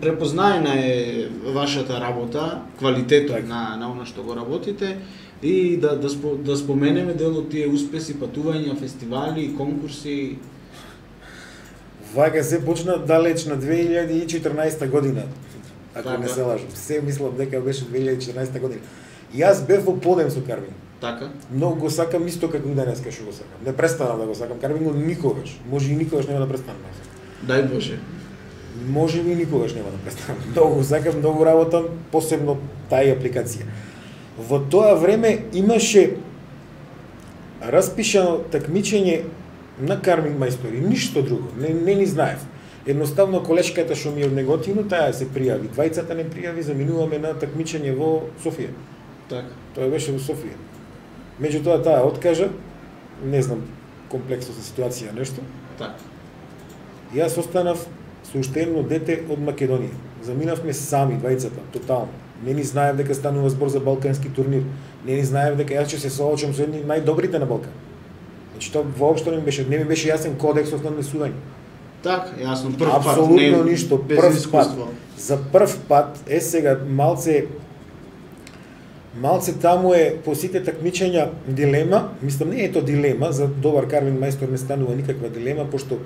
Speaker 2: препознаена е вашата работа, квалитетот
Speaker 6: Така.
Speaker 2: на она што го работите и да споменеме дел од тие успеси, патувања, фестивали, конкурси.
Speaker 6: Вака се почна далеч на 2014 година, ако
Speaker 2: Така.
Speaker 6: не се лажам. Се мислам дека беше 2014 година. И јас бев во подем со карвинг.
Speaker 2: Така.
Speaker 6: Многу го сакам исто како и денеска што го сакам. Не престанам да го сакам карвингот никогаш. Може и никогаш нема да престанам да го сакам.
Speaker 2: Дај Боже.
Speaker 6: Може би никогаш нема да престанам. Многу го сакам, многу работам, посебно тај апликација. Во тоа време имаше распишано такмичење на карвинг мајстори, ништо друго, не ни знаев. Едноставно колешката што ми е од Неготино, таа се пријави. Двајцата не пријави, заминуваме на такмичење во Софија.
Speaker 2: Така.
Speaker 6: Тоа беше во Софија. Меѓутоа таа откажа, не знам комплексност на ситуација нешто.
Speaker 2: Така.
Speaker 6: Јас останав со уште едно дете од Македонија. Заминавме сами двајцата, тотално. Не ни знаев дека станува збор за балкански турнир. Не ни знаев дека јас ќе се соочам со едни најдобрите на Балкан. Значи тоа воопшто не ми беше јасен кодексот на однесување.
Speaker 2: Така, јасно, прв пат.
Speaker 6: Апсолутно ништо,
Speaker 2: без
Speaker 6: прв пат.
Speaker 2: искуство.
Speaker 6: За прв пат, сега малце таму е по сите такмичења дилема, мислам не е тоа дилема, за добар карвинг мајстор не станува никаква дилема, пошто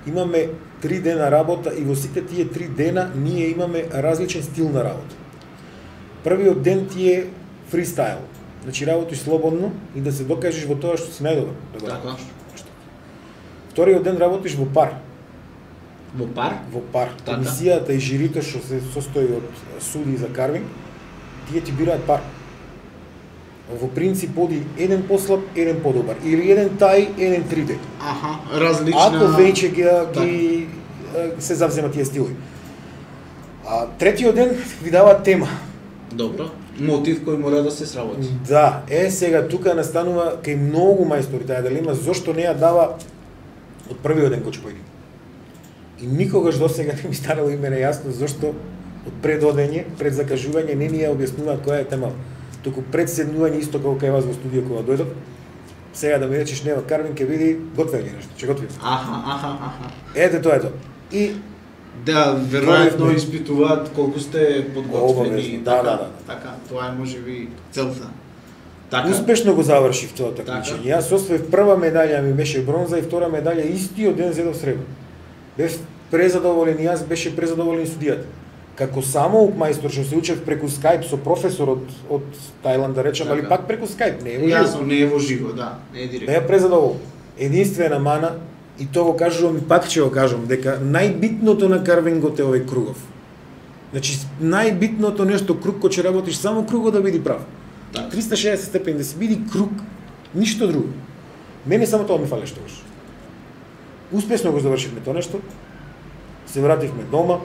Speaker 6: имаме 3 дена работа и во сите тие 3 дена ние имаме различен стил на работа. Првиот ден ти е фристайл, значи работиш слободно и да се докажеш во тоа што си најдобар. Да го
Speaker 2: Така.
Speaker 6: работиш. Вториот ден работиш во пар.
Speaker 2: Во пар?
Speaker 6: Во пар.
Speaker 2: Така.
Speaker 6: Комисијата и жирито што се состои од суди за карвинг, тие ти бираат пар. Во принцип оди еден послаб, еден подобар. Или еден тај, еден 3D.
Speaker 2: Аха, различна...
Speaker 6: Ако веќе ги се завзема тие стилови. Третиот ден ви дава тема.
Speaker 2: Добро. Мотив кој мора да се сработи.
Speaker 6: Да, сега тука настанува кај многу мајстори таа дилема зошто не ја дава од првиот ден кој ќе појде. И никогаш досега не ми станало и мене јасно зошто од пред одење, пред закажување не ни ја објаснуваат која е тема. Туку пред седнување исто како кај вас во студио кога дојдов, сега да ми речеш нема карвинг ќе види готвење нешто, ќе готвим.
Speaker 2: Аха.
Speaker 6: Ете тоа е тоа. И
Speaker 2: Да, веројатно
Speaker 6: Тоа е-
Speaker 2: испитуваат колку сте подготвени.
Speaker 6: Обавезно, да.
Speaker 2: Така, тоа е можеби целта. Така.
Speaker 6: успешно го завршив тоа такмичење. Јас освоив прва медаља ми беше бронза и втора медаља истиот ден зедов сребро. Бев презадоволен и јас, беше презадоволен и судијата. Како самоук мајстор што се учев преку Skype со професор од Тајланд, да речем, али
Speaker 2: Така.
Speaker 6: пак преку Skype, не е во живо.
Speaker 2: Јасно, не е во живо, да, не е директно.
Speaker 6: Беа презадоволен. единствена мана, и тоа го кажувам и пак ќе го кажам, дека најбитното на карвингот е овој кругов. Значи, најбитното нешто круг кој ќе работиш, само кругот да биде прав. 360 степени, да си биде круг, ништо друго. Мене само тоа ми фалеше тогаш. Успешно го завршивме тоа нешто, се вративме дома,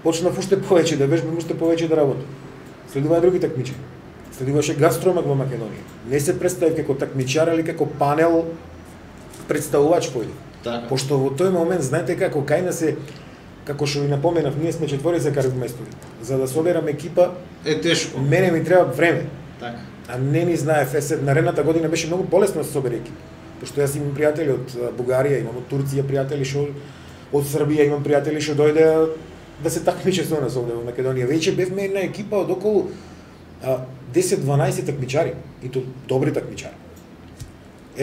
Speaker 6: почнав уште повеќе да вежбам, уште повеќе да работам. Следуваја други такмичари. Следуваше Гастромак во Македонија. Не се представив како такмичар, али како панел представувач појде.
Speaker 2: Така.
Speaker 6: Пошто во тој момент, знаете како кај нас е, како што ви напоменав, ние сме четворица карвмајстори. За да соберам екипа,
Speaker 2: Е тешко.
Speaker 6: мене ми треба време.
Speaker 2: Така.
Speaker 6: А не ни знаев, наредната година беше многу полесно да се собере екипа. Пошто јас имам пријатели од Бугарија, имам од Турција пријатели што од Србија, имам пријатели што дојде да се такмиче со нас овде во Македонија. Веќе бевме една екипа од околу 10-12 такмичари, и то добри такмичари.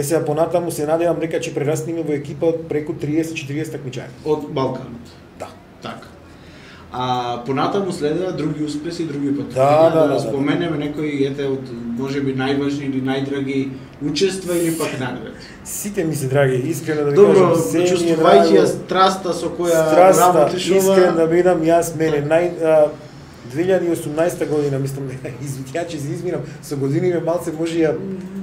Speaker 6: Сега понатаму се надевам дека ќе прерасниме во екипа од преку 30-40 такмичари.
Speaker 2: Од Балканот.
Speaker 6: Да.
Speaker 2: Така. А понатаму следува други успеси, други патеки.
Speaker 6: Да.
Speaker 2: Споменеме некои од можеби најважни или најдраги учества или пак награди.
Speaker 6: Сите ми се драги, искрено да ви
Speaker 2: Добро,
Speaker 6: кажам, се ми е
Speaker 2: чувствувајќи ја
Speaker 6: драго.
Speaker 2: страста со која
Speaker 6: Страста,
Speaker 2: работиш
Speaker 6: искрен да бидам, јас мене 2018 година, мислам, ја че се изминам, со годиниве малце може ја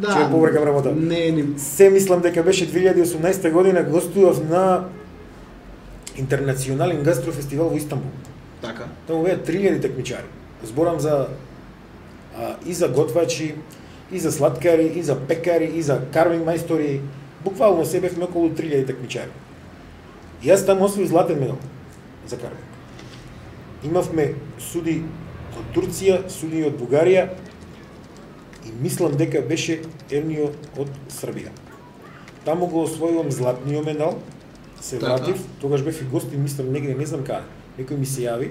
Speaker 6: ќе ја побркам работа.
Speaker 2: Не,
Speaker 6: Се мислам дека беше 2018 година, гостував на Интернационален гастрофестивал во Истанбул.
Speaker 2: Така.
Speaker 6: Таму беа 3000 такмичари. Зборам за и за готвачи, и за сладкари, и за пекари, и за карвинг мајстори. Буквално се бевме околу 3000 такмичари. Јас таму освоив златен медал за карвинг. Имавме суди од Турција, суди од Бугарија и мислам дека беше едниот од Србија. Таму го освојувам златниот медал, се
Speaker 2: Така.
Speaker 6: вратив, тогаш бев и гостин, мислам негде, не знам каде. Некој ми се јави.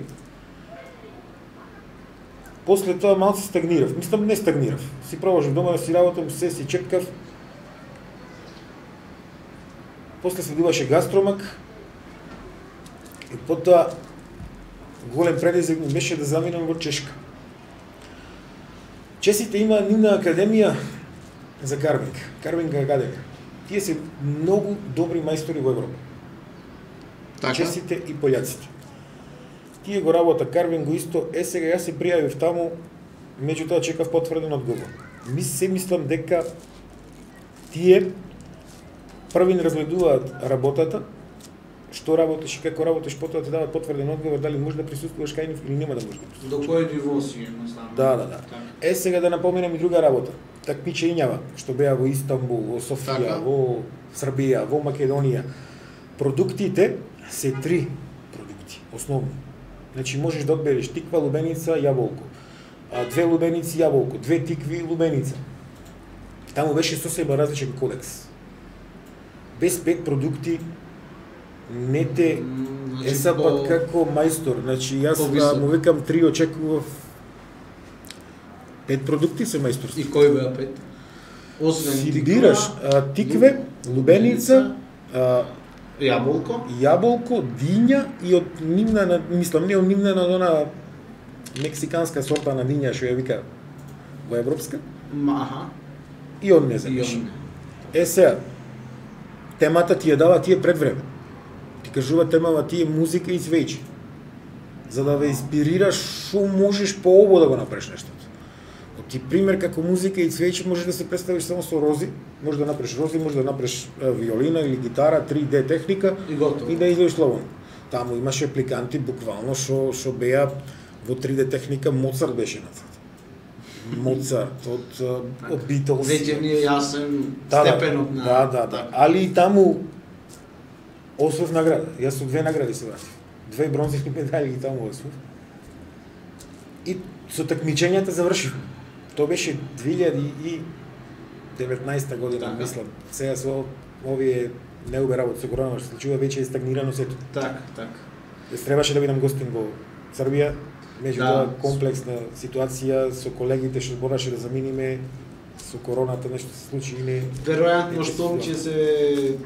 Speaker 6: После тоа малку стагнирав. Мислам не стагнирав. Си продолжив дома да си работам, се си чекав. После следуваше Гастромак. И потоа голем предизвик ми беше да заминам во Чешка. Чесите има нивна академија за карвинг. Карвинг академија. Тие се многу добри мајстори во Европа.
Speaker 2: Така.
Speaker 6: Чесите и пољаците. Тие го работа карвинг го исто. Сега јас се пријавив таму, меѓутоа чекав потврден одговор. Се мислам дека тие први не разгледуваат работата, што работиш и како работиш, потоа ти дават потврден одговор дали можеш да присуствуваш кај нив или нема да можеш да присуствуваш.
Speaker 2: До кој ниво си едноставно?
Speaker 6: Да. Сега да напоменам и друга работа. Такмичењава што беа во Истанбул, во Софија,
Speaker 2: Така.
Speaker 6: во Србија, во Македонија. Продуктите се 3 продукти, основни. Значи можеш да одбереш тиква, лубеница, јаболко. 2 лубеници, јаболко, 2 тикви, лубеница. Таму беше сосема различен кодекс. Без 5 продукти не те
Speaker 2: Значи,
Speaker 6: пак како мајстор. Значи јас
Speaker 2: повисок.
Speaker 6: му викам 3 очекував 5 продукти се мајсторство.
Speaker 2: И кој беа 5? Освен
Speaker 6: Си
Speaker 2: тиква,
Speaker 6: бираш тикве, лубеница,
Speaker 2: јаболко,
Speaker 6: јаболко, диња и од нивна, мислам не од нивна, но од она мексиканска сорта на диња што ја вика во европска,
Speaker 2: аха,
Speaker 6: и од не
Speaker 2: и
Speaker 6: знаеш.
Speaker 2: он.
Speaker 6: Сега, темата ти ја дава тие пред време. Ти кажува темава ти е музика и цвеќе. За да ве инспирираш што можеш пообо да го направиш нештото. Ти пример како музика и цвеќе можеш да се представиш само со рози, можеш да направиш рози, можеш да направиш виолина или гитара, 3D техника
Speaker 2: И готово.
Speaker 6: и да излезеш слободно. Таму имаше апликанти буквално што беа во 3D техника, Моцарт беше нацртан. Моцарт од Beatles.
Speaker 2: Веќе ни е јасен
Speaker 6: Да,
Speaker 2: степенот на...
Speaker 6: Да. Али и таму освоив награда. Јас со 2 награди се вратив. 2 бронзови медали ги таму освоив. И со такмичењата завршивме. Тоа беше 2019 година,
Speaker 2: Така.
Speaker 6: мислам. Сега со овие неубе работи со корона, што се случува, веќе е стагнирано сето.
Speaker 2: Так.
Speaker 6: Требаше да бидам гостин во Србија, меѓутоа
Speaker 2: Да.
Speaker 6: комплексна ситуација со колегите што мораше да заминиме со короната, нешто се случи и не.
Speaker 2: Веројатно што ќе се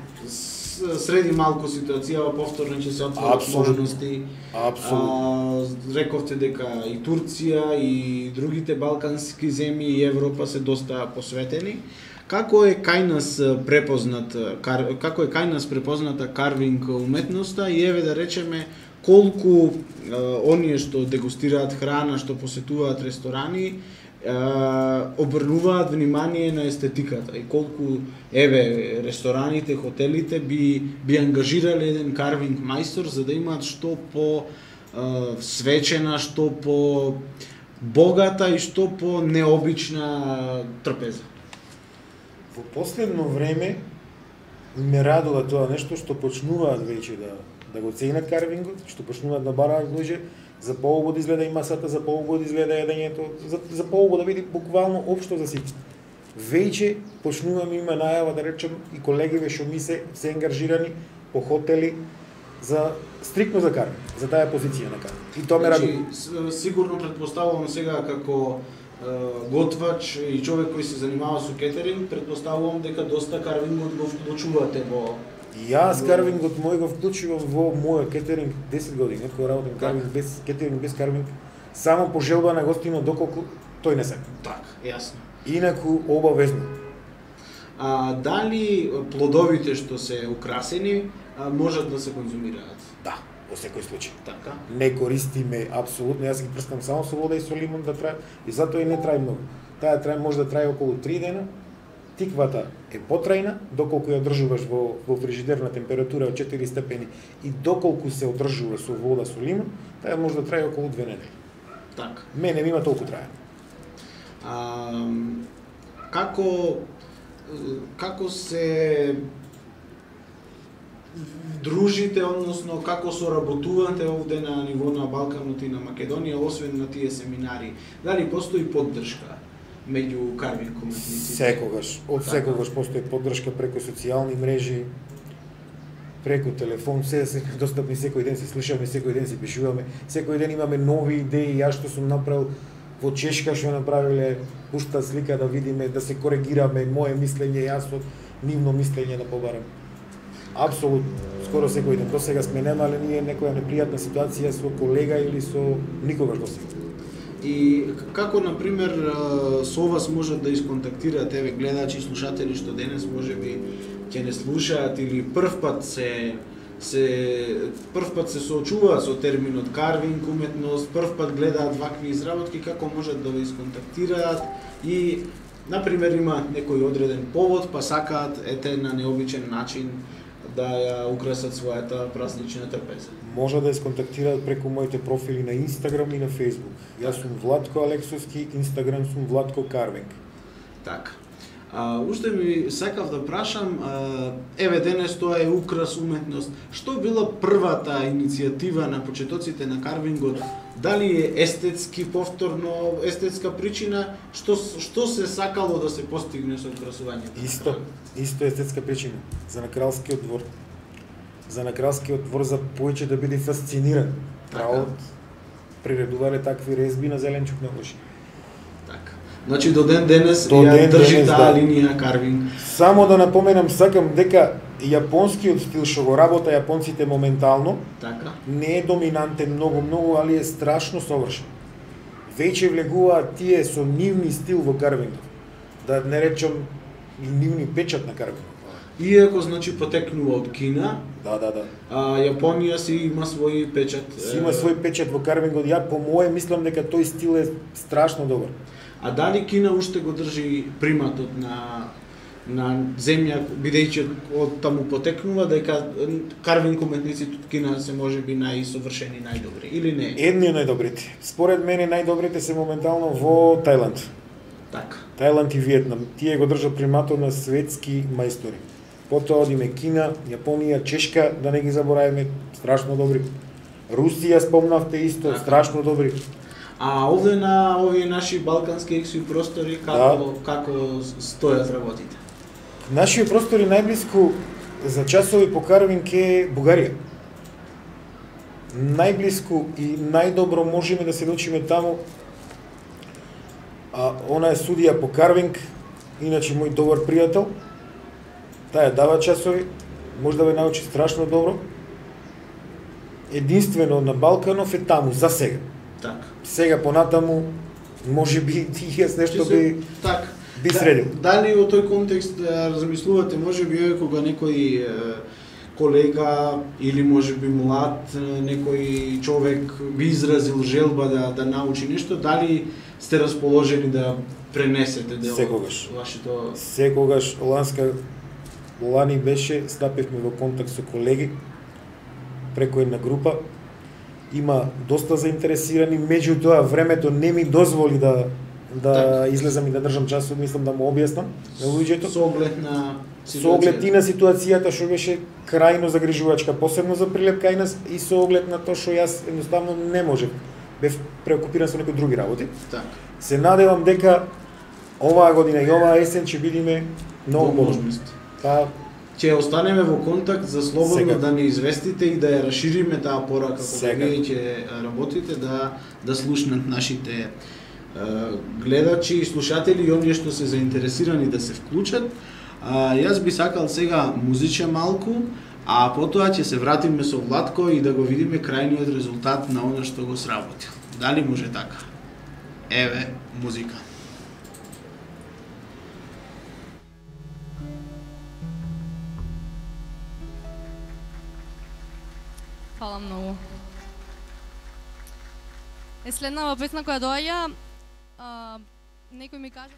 Speaker 2: среди малку ситуацијава, повторно ќе се отворат
Speaker 6: Апсолутно.
Speaker 2: можности.
Speaker 6: Апсолутно.
Speaker 2: Рековте дека и Турција и другите балкански земји и Европа се доста посветени. Како е кај нас препозната карвинг уметноста и еве да речеме колку оние што дегустираат храна, што посетуваат ресторани, обрнуваат внимание на естетиката и колку еве рестораните, хотелите би ангажирале еден карвинг мајстор за да имаат што по свечена, што по богата и што по необична трпеза.
Speaker 6: Во последно време ме радува тоа нешто што почнуваат веќе да го ценат карвингот, што почнуваат да бараат луѓе, за поубаво да изгледа и масата, за поубаво да изгледа едењето, за поубаво да биде буквално општо за сите. Веќе почнуваме има најава да речем и колегиве што ми се ангажирани по хотели за стрикно за карвинг, за таа позиција на карвинг. И тоа ме радува.
Speaker 2: Сигурно предпоставувам сега како готвач и човек кој се занимава со кетеринг, предпоставувам дека доста карвингот го вклучувате во...
Speaker 6: Јас карвингот мој го вклучувам во мојот кетеринг 10 години, кога работам карвинг без кетеринг, без карвинг, само по желба на гостинот доколку тој не сака.
Speaker 2: Так, јасно.
Speaker 6: Инаку обавезно.
Speaker 2: Дали плодовите што се украсени можат да се конзумираат?
Speaker 6: Да, во секој случај.
Speaker 2: Така.
Speaker 6: Не користиме апсолутно, јас ги прскам само со вода и со лимон да трае, и затоа и не трае многу. Таа може да трае околу 3 дена. Тиквата е потрајна, доколку ја одржуваш во фрижидер на температура од 4 степени и доколку се одржува со вода со лимон, таа може да трае околу 2 недели.
Speaker 2: Така.
Speaker 6: Мене има толку трае.
Speaker 2: Како се дружите, односно како соработувате овде на ниво на Балканот и на Македонија, освен на тие семинари? Дали постои поддршка меѓу карвинг уметниците?
Speaker 6: Секогаш, од секогаш постои поддршка преку социјални мрежи, преку телефон, се достапни секој ден, се слушаме, секој ден се пишуваме, секој ден имаме нови идеи, јас што сум направил во Чешка што направиле, пушта слика да видиме, да се коригираме, моје мислење, јас од нивно мислење да побарам. Апсолутно, скоро секој ден. До сега сме немале ние некоја непријатна ситуација со колега или со никогаш до сега.
Speaker 2: И како, например, со вас можат да исконтактираат еве гледачи и слушатели што денес можеби ќе не слушаат или првпат се соочуваат со терминот карвинг уметност, првпат гледаат вакви изработки, како можат да ве исконтактираат и, например, има некој одреден повод, па сакаат на необичен начин да ја украсат својата празнична трпеза.
Speaker 6: Може да исконтактираат преку моите профили на Инстаграм и на Фејсбук. Јас сум Владко Алексовски, Инстаграм сум Владко Карвинг.
Speaker 2: Така. Уште ми сакав да прашам, еве денес тоа е украс уметност. Што била првата иницијатива на почетоците на карвингот? Дали е естетски, повторно естетска причина? Што се сакало да се постигне со украсувањето?
Speaker 6: Исто естетска причина. За на кралскиот двор. За на кралскиот двор за повеќе да биде фасциниран. Кралот приредувале такви резби на зеленчук на уши.
Speaker 2: Така. Значи до ден денес ја држи таа линија карвинг.
Speaker 6: Само да напоменам, сакам дека јапонскиот стил што го работа јапонците моментално,
Speaker 2: така,
Speaker 6: не е доминантен многу, али е страшно совршен. Веќе влегуваат тие со нивни стил во карвингот. Да не речам и нивни печат на карвингот.
Speaker 2: Иако значи потекнува од Кина.
Speaker 6: Да.
Speaker 2: Јапонија си има свој печат.
Speaker 6: Си има свој печат во карвингот. Ја по мое мислам дека тој стил е страшно добар.
Speaker 2: А дали Кина уште го држи приматот на земја, бидејќи од таму потекнува, дека карвинг уметниците од Кина се можеби најсовршени, најдобри, или не?
Speaker 6: Едни од најдобрите. Според мене најдобрите се моментално во Тајланд.
Speaker 2: Така.
Speaker 6: Тајланд и Виетнам. Тие го држат приматот на светски мајстори. Потоа одиме Кина, Јапонија, Чешка, да не ги забораваме, страшно добри. Русија спомнавте исто, така, страшно добри.
Speaker 2: А овде на овие наши балкански екси простори како стојат работите?
Speaker 6: Нашите простори најблиску за часови по карвинг е Бугарија. Најблиску и најдобро можеме да се научиме таму. Она е судија по карвинг, иначе мој добар пријател. Таа дава часови, може да ве научи страшно добро. Единствено на Балканов е таму за сега.
Speaker 2: Так.
Speaker 6: Сега понатаму можеби јас нешто би би средил.
Speaker 2: Дали во тој контекст размислувате, може би кога некој колега или може би млад некој човек би изразил желба да научи нешто, дали сте расположени да пренесете дел
Speaker 6: Секогаш.
Speaker 2: од вашето...
Speaker 6: Секогаш лани беше, стапевме во контакт со колеги преку една група. Има доста заинтересирани, меѓутоа времето не ми дозволи да излезам и да држам часот, мислам да му објаснам на луѓето.
Speaker 2: Со оглед на
Speaker 6: Со оглед и на ситуацијата што беше крајно загрижувачка, посебно за Прилеп кај нас, и со оглед на тоа што јас едноставно не можев. Бев преокупиран со некои други работи.
Speaker 2: Так.
Speaker 6: Се надевам дека оваа година и оваа есен ќе бидеме многу подобри. Па,
Speaker 2: Ќе останеме во контакт за слободно
Speaker 6: Сега.
Speaker 2: да не известите и да ја расшириме таа порака кога
Speaker 6: Сега.
Speaker 2: вие ќе работите, да слушнат нашите гледачи и слушатели и оние што се заинтересирани да се вклучат. Јас би сакал сега музиче малку, а потоа ќе се вратиме со Владко и да го видиме крајниот резултат на она што го сработил. Дали може така? Еве, музика.
Speaker 5: Фала многу. Следнава песна која доаѓа, некој ми кажа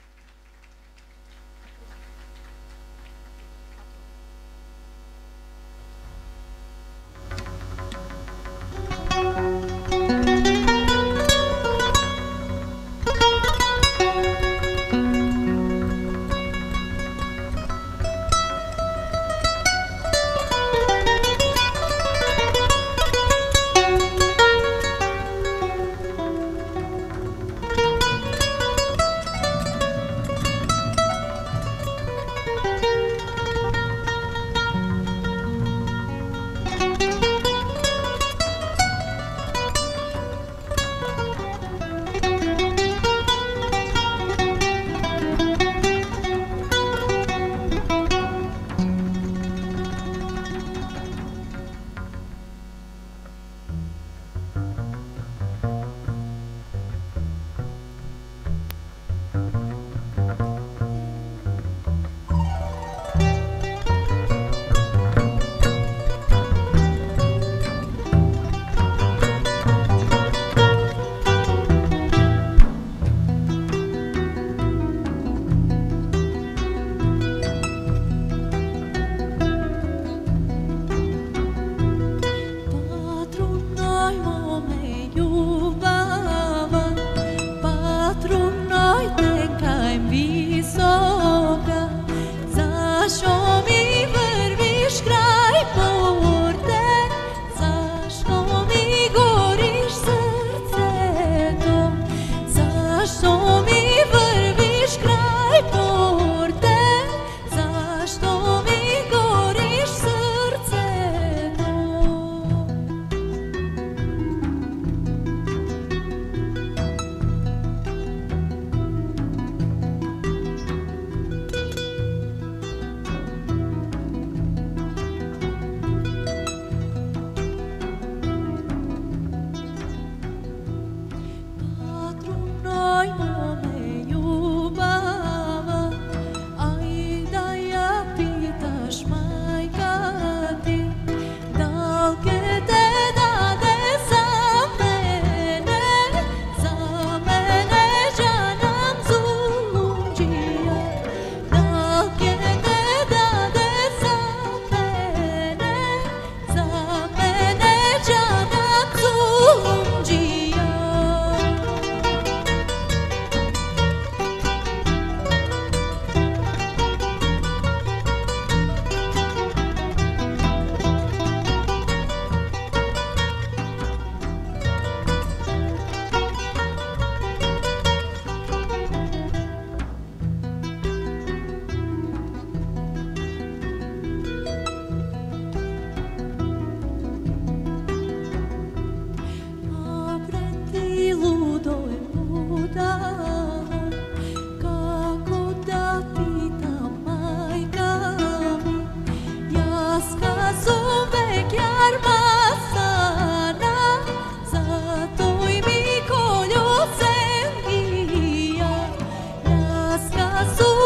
Speaker 4: Azul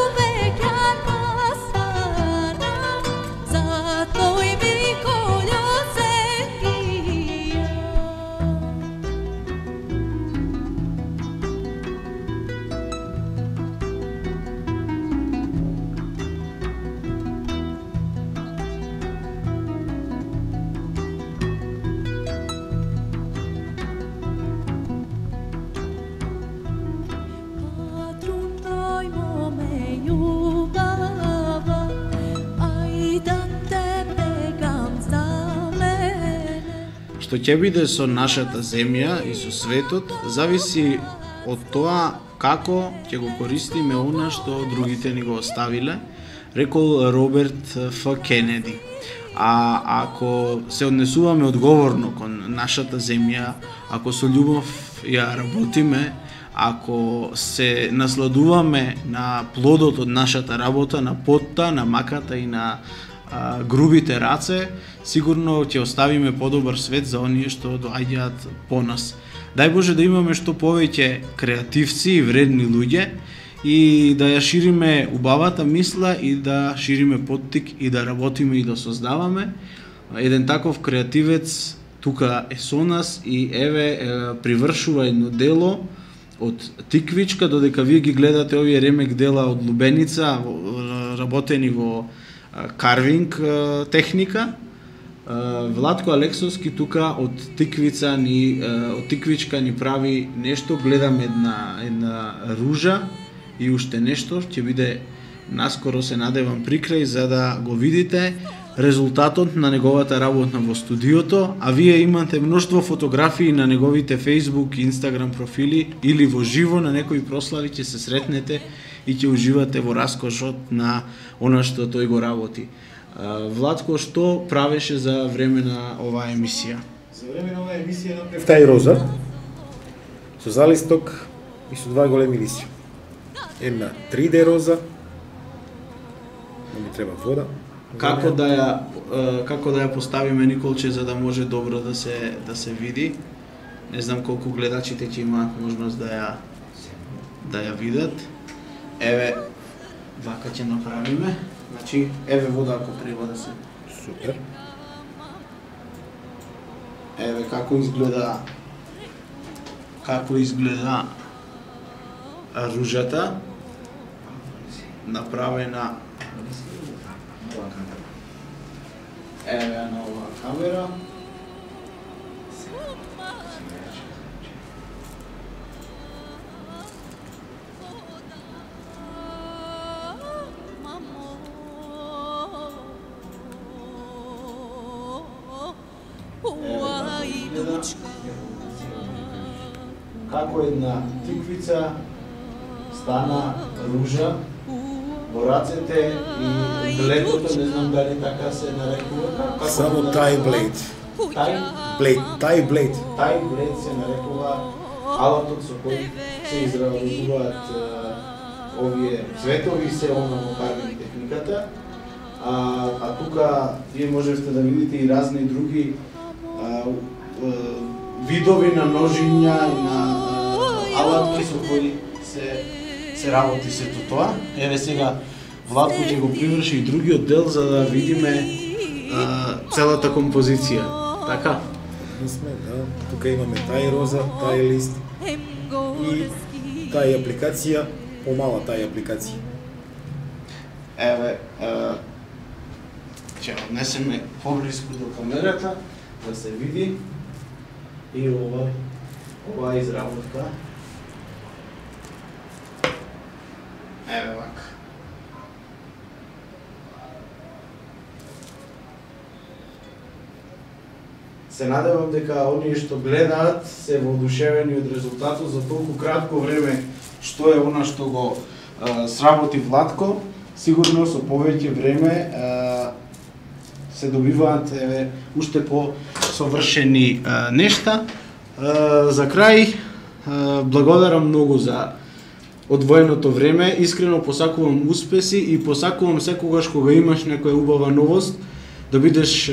Speaker 2: што ќе биде со нашата земја и со светот зависи од тоа како ќе го користиме она што другите ни го оставиле, рекол Роберт Ф. Кенеди. А ако се однесуваме одговорно кон нашата земја, ако со љубов ја работиме, ако се насладуваме на плодот од нашата работа, на потта, на маката и на грубите раце, сигурно ќе оставиме подобар свет за оние што доаѓаат по нас. Дај Боже да имаме што повеќе креативци и вредни луѓе и да ја шириме убавата мисла и да шириме поттик и да работиме и да создаваме. Еден таков креативец тука е со нас и еве привршува едно дело од тиквичка, додека вие ги гледате овие ремек дела од лубеница, работени во карвинг техника. Владко Алексовски тука од тиквичка ни прави нешто, гледам една ружа и уште нешто, ќе биде наскоро, се надевам, прикрај за да го видите резултатот на неговата работа во студиото, а вие имате мноштво фотографии на неговите Facebook и Instagram профили или во живо на некои прослави ќе се сретнете и ќе уживате во раскошот на она што тој го работи. Владко, што правеше за време на оваа емисија?
Speaker 6: За време на оваа емисија направив тај роза со залисток и со два големи лисја. Една 3D роза, ми треба вода.
Speaker 2: Како да ја поставиме, Николче, за да може добро да се види? Не знам колку гледачите ќе имаат можност да ја видат. Еве, вака ќе направиме. Значи, еве вода ако треба да се.
Speaker 6: Супер.
Speaker 2: Еве како изгледа ружата направена. Еве на оваа камера. Како една тиквица стана ружа во рацете и бледото, не знам дали така се нарекува.
Speaker 6: Само тај блейд. Тај блейд
Speaker 2: се нарекува алатот со кој се изработуваат овие цветови, се она во карвинг техниката. А тука вие можете да видите и разни други видови на ножиња и на алатки со кои се работи сето тоа. Еве сега Владко ќе го приврши и другиот дел за да видиме целата композиција. Така?
Speaker 6: Сме, да. Тука имаме тај роза, тај лист и тај апликација, помала тај апликација.
Speaker 2: Еве, ќе однесеме поблиску до камерата да се види и ова изработка. Еве вака. Се надевам дека оние што гледаат се воодушевени од резултатот за толку кратко време што е она што го сработи Владко. Сигурно со повеќе време се добиваат уште по-совршени нешта. За крај, благодарам многу за одвоеното време. Искрено посакувам успеси и посакувам секогаш кога имаш некоја убава новост да бидеш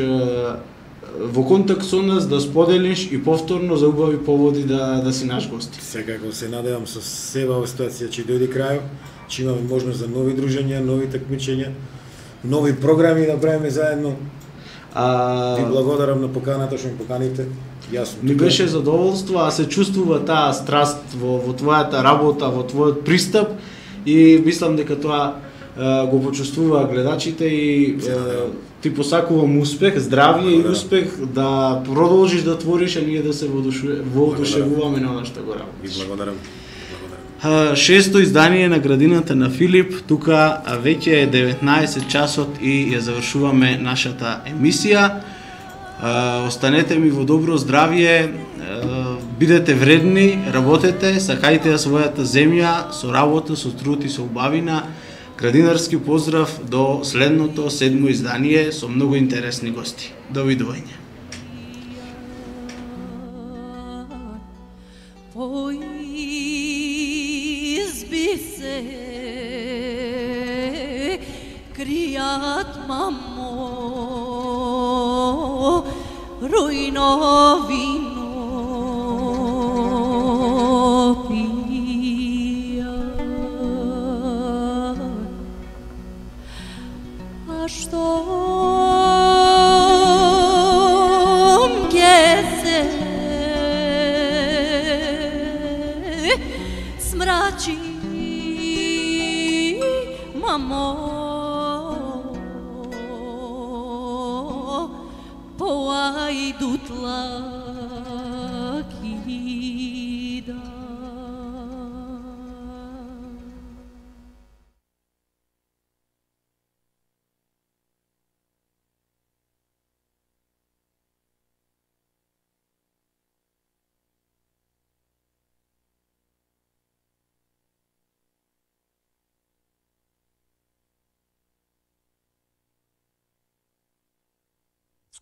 Speaker 2: во контакт со нас, да споделиш и повторно за убави поводи да си наш гости.
Speaker 6: Секако се надевам со себе оваа ситуација ќе дојде крајот, ќе имаме можност за нови дружења, нови такмичења, нови програми да правиме заедно. Ви благодарам на поканата што ме поканите. Јасно.
Speaker 2: Ми беше задоволство, а се чувствува таа страст во твојата работа, во твојот пристап и мислам дека тоа го почувствуваат гледачите и ти посакувам успех, здравје и успех да продолжиш да твориш, а ние да се воодушевуваме на она што го работиш.
Speaker 6: Ви благодарам.
Speaker 2: Шесто издание на Градината на Филип, тука веќе е 19 часот и ја завршуваме нашата емисија. Останете ми во добро здравје, бидете вредни, работете, сакајте ја својата земја со работа, со труд и со убавина. Градинарски поздрав до следното 7 издание со многу интересни гости. Довидување.
Speaker 4: По изби се кријат, мамо, рујно вино пијат. А штом ќе се смрачи, мамо, поајдутлак ида.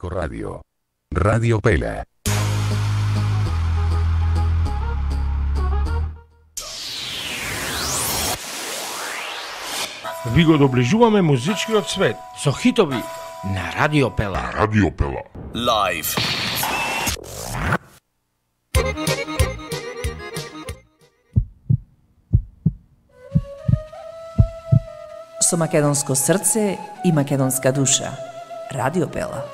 Speaker 7: Radio. Radio Pela.
Speaker 8: Ви го доближуваме музичкиот свет со хитови на Радио Пела.
Speaker 7: Radio Pela.
Speaker 9: Live.
Speaker 10: Со македонско срце и македонска душа. Радио Пела.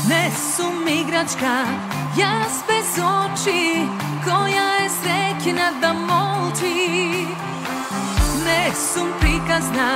Speaker 4: Не сум играчка, јас без очи, која е среќна да молчи. Не сум приказна,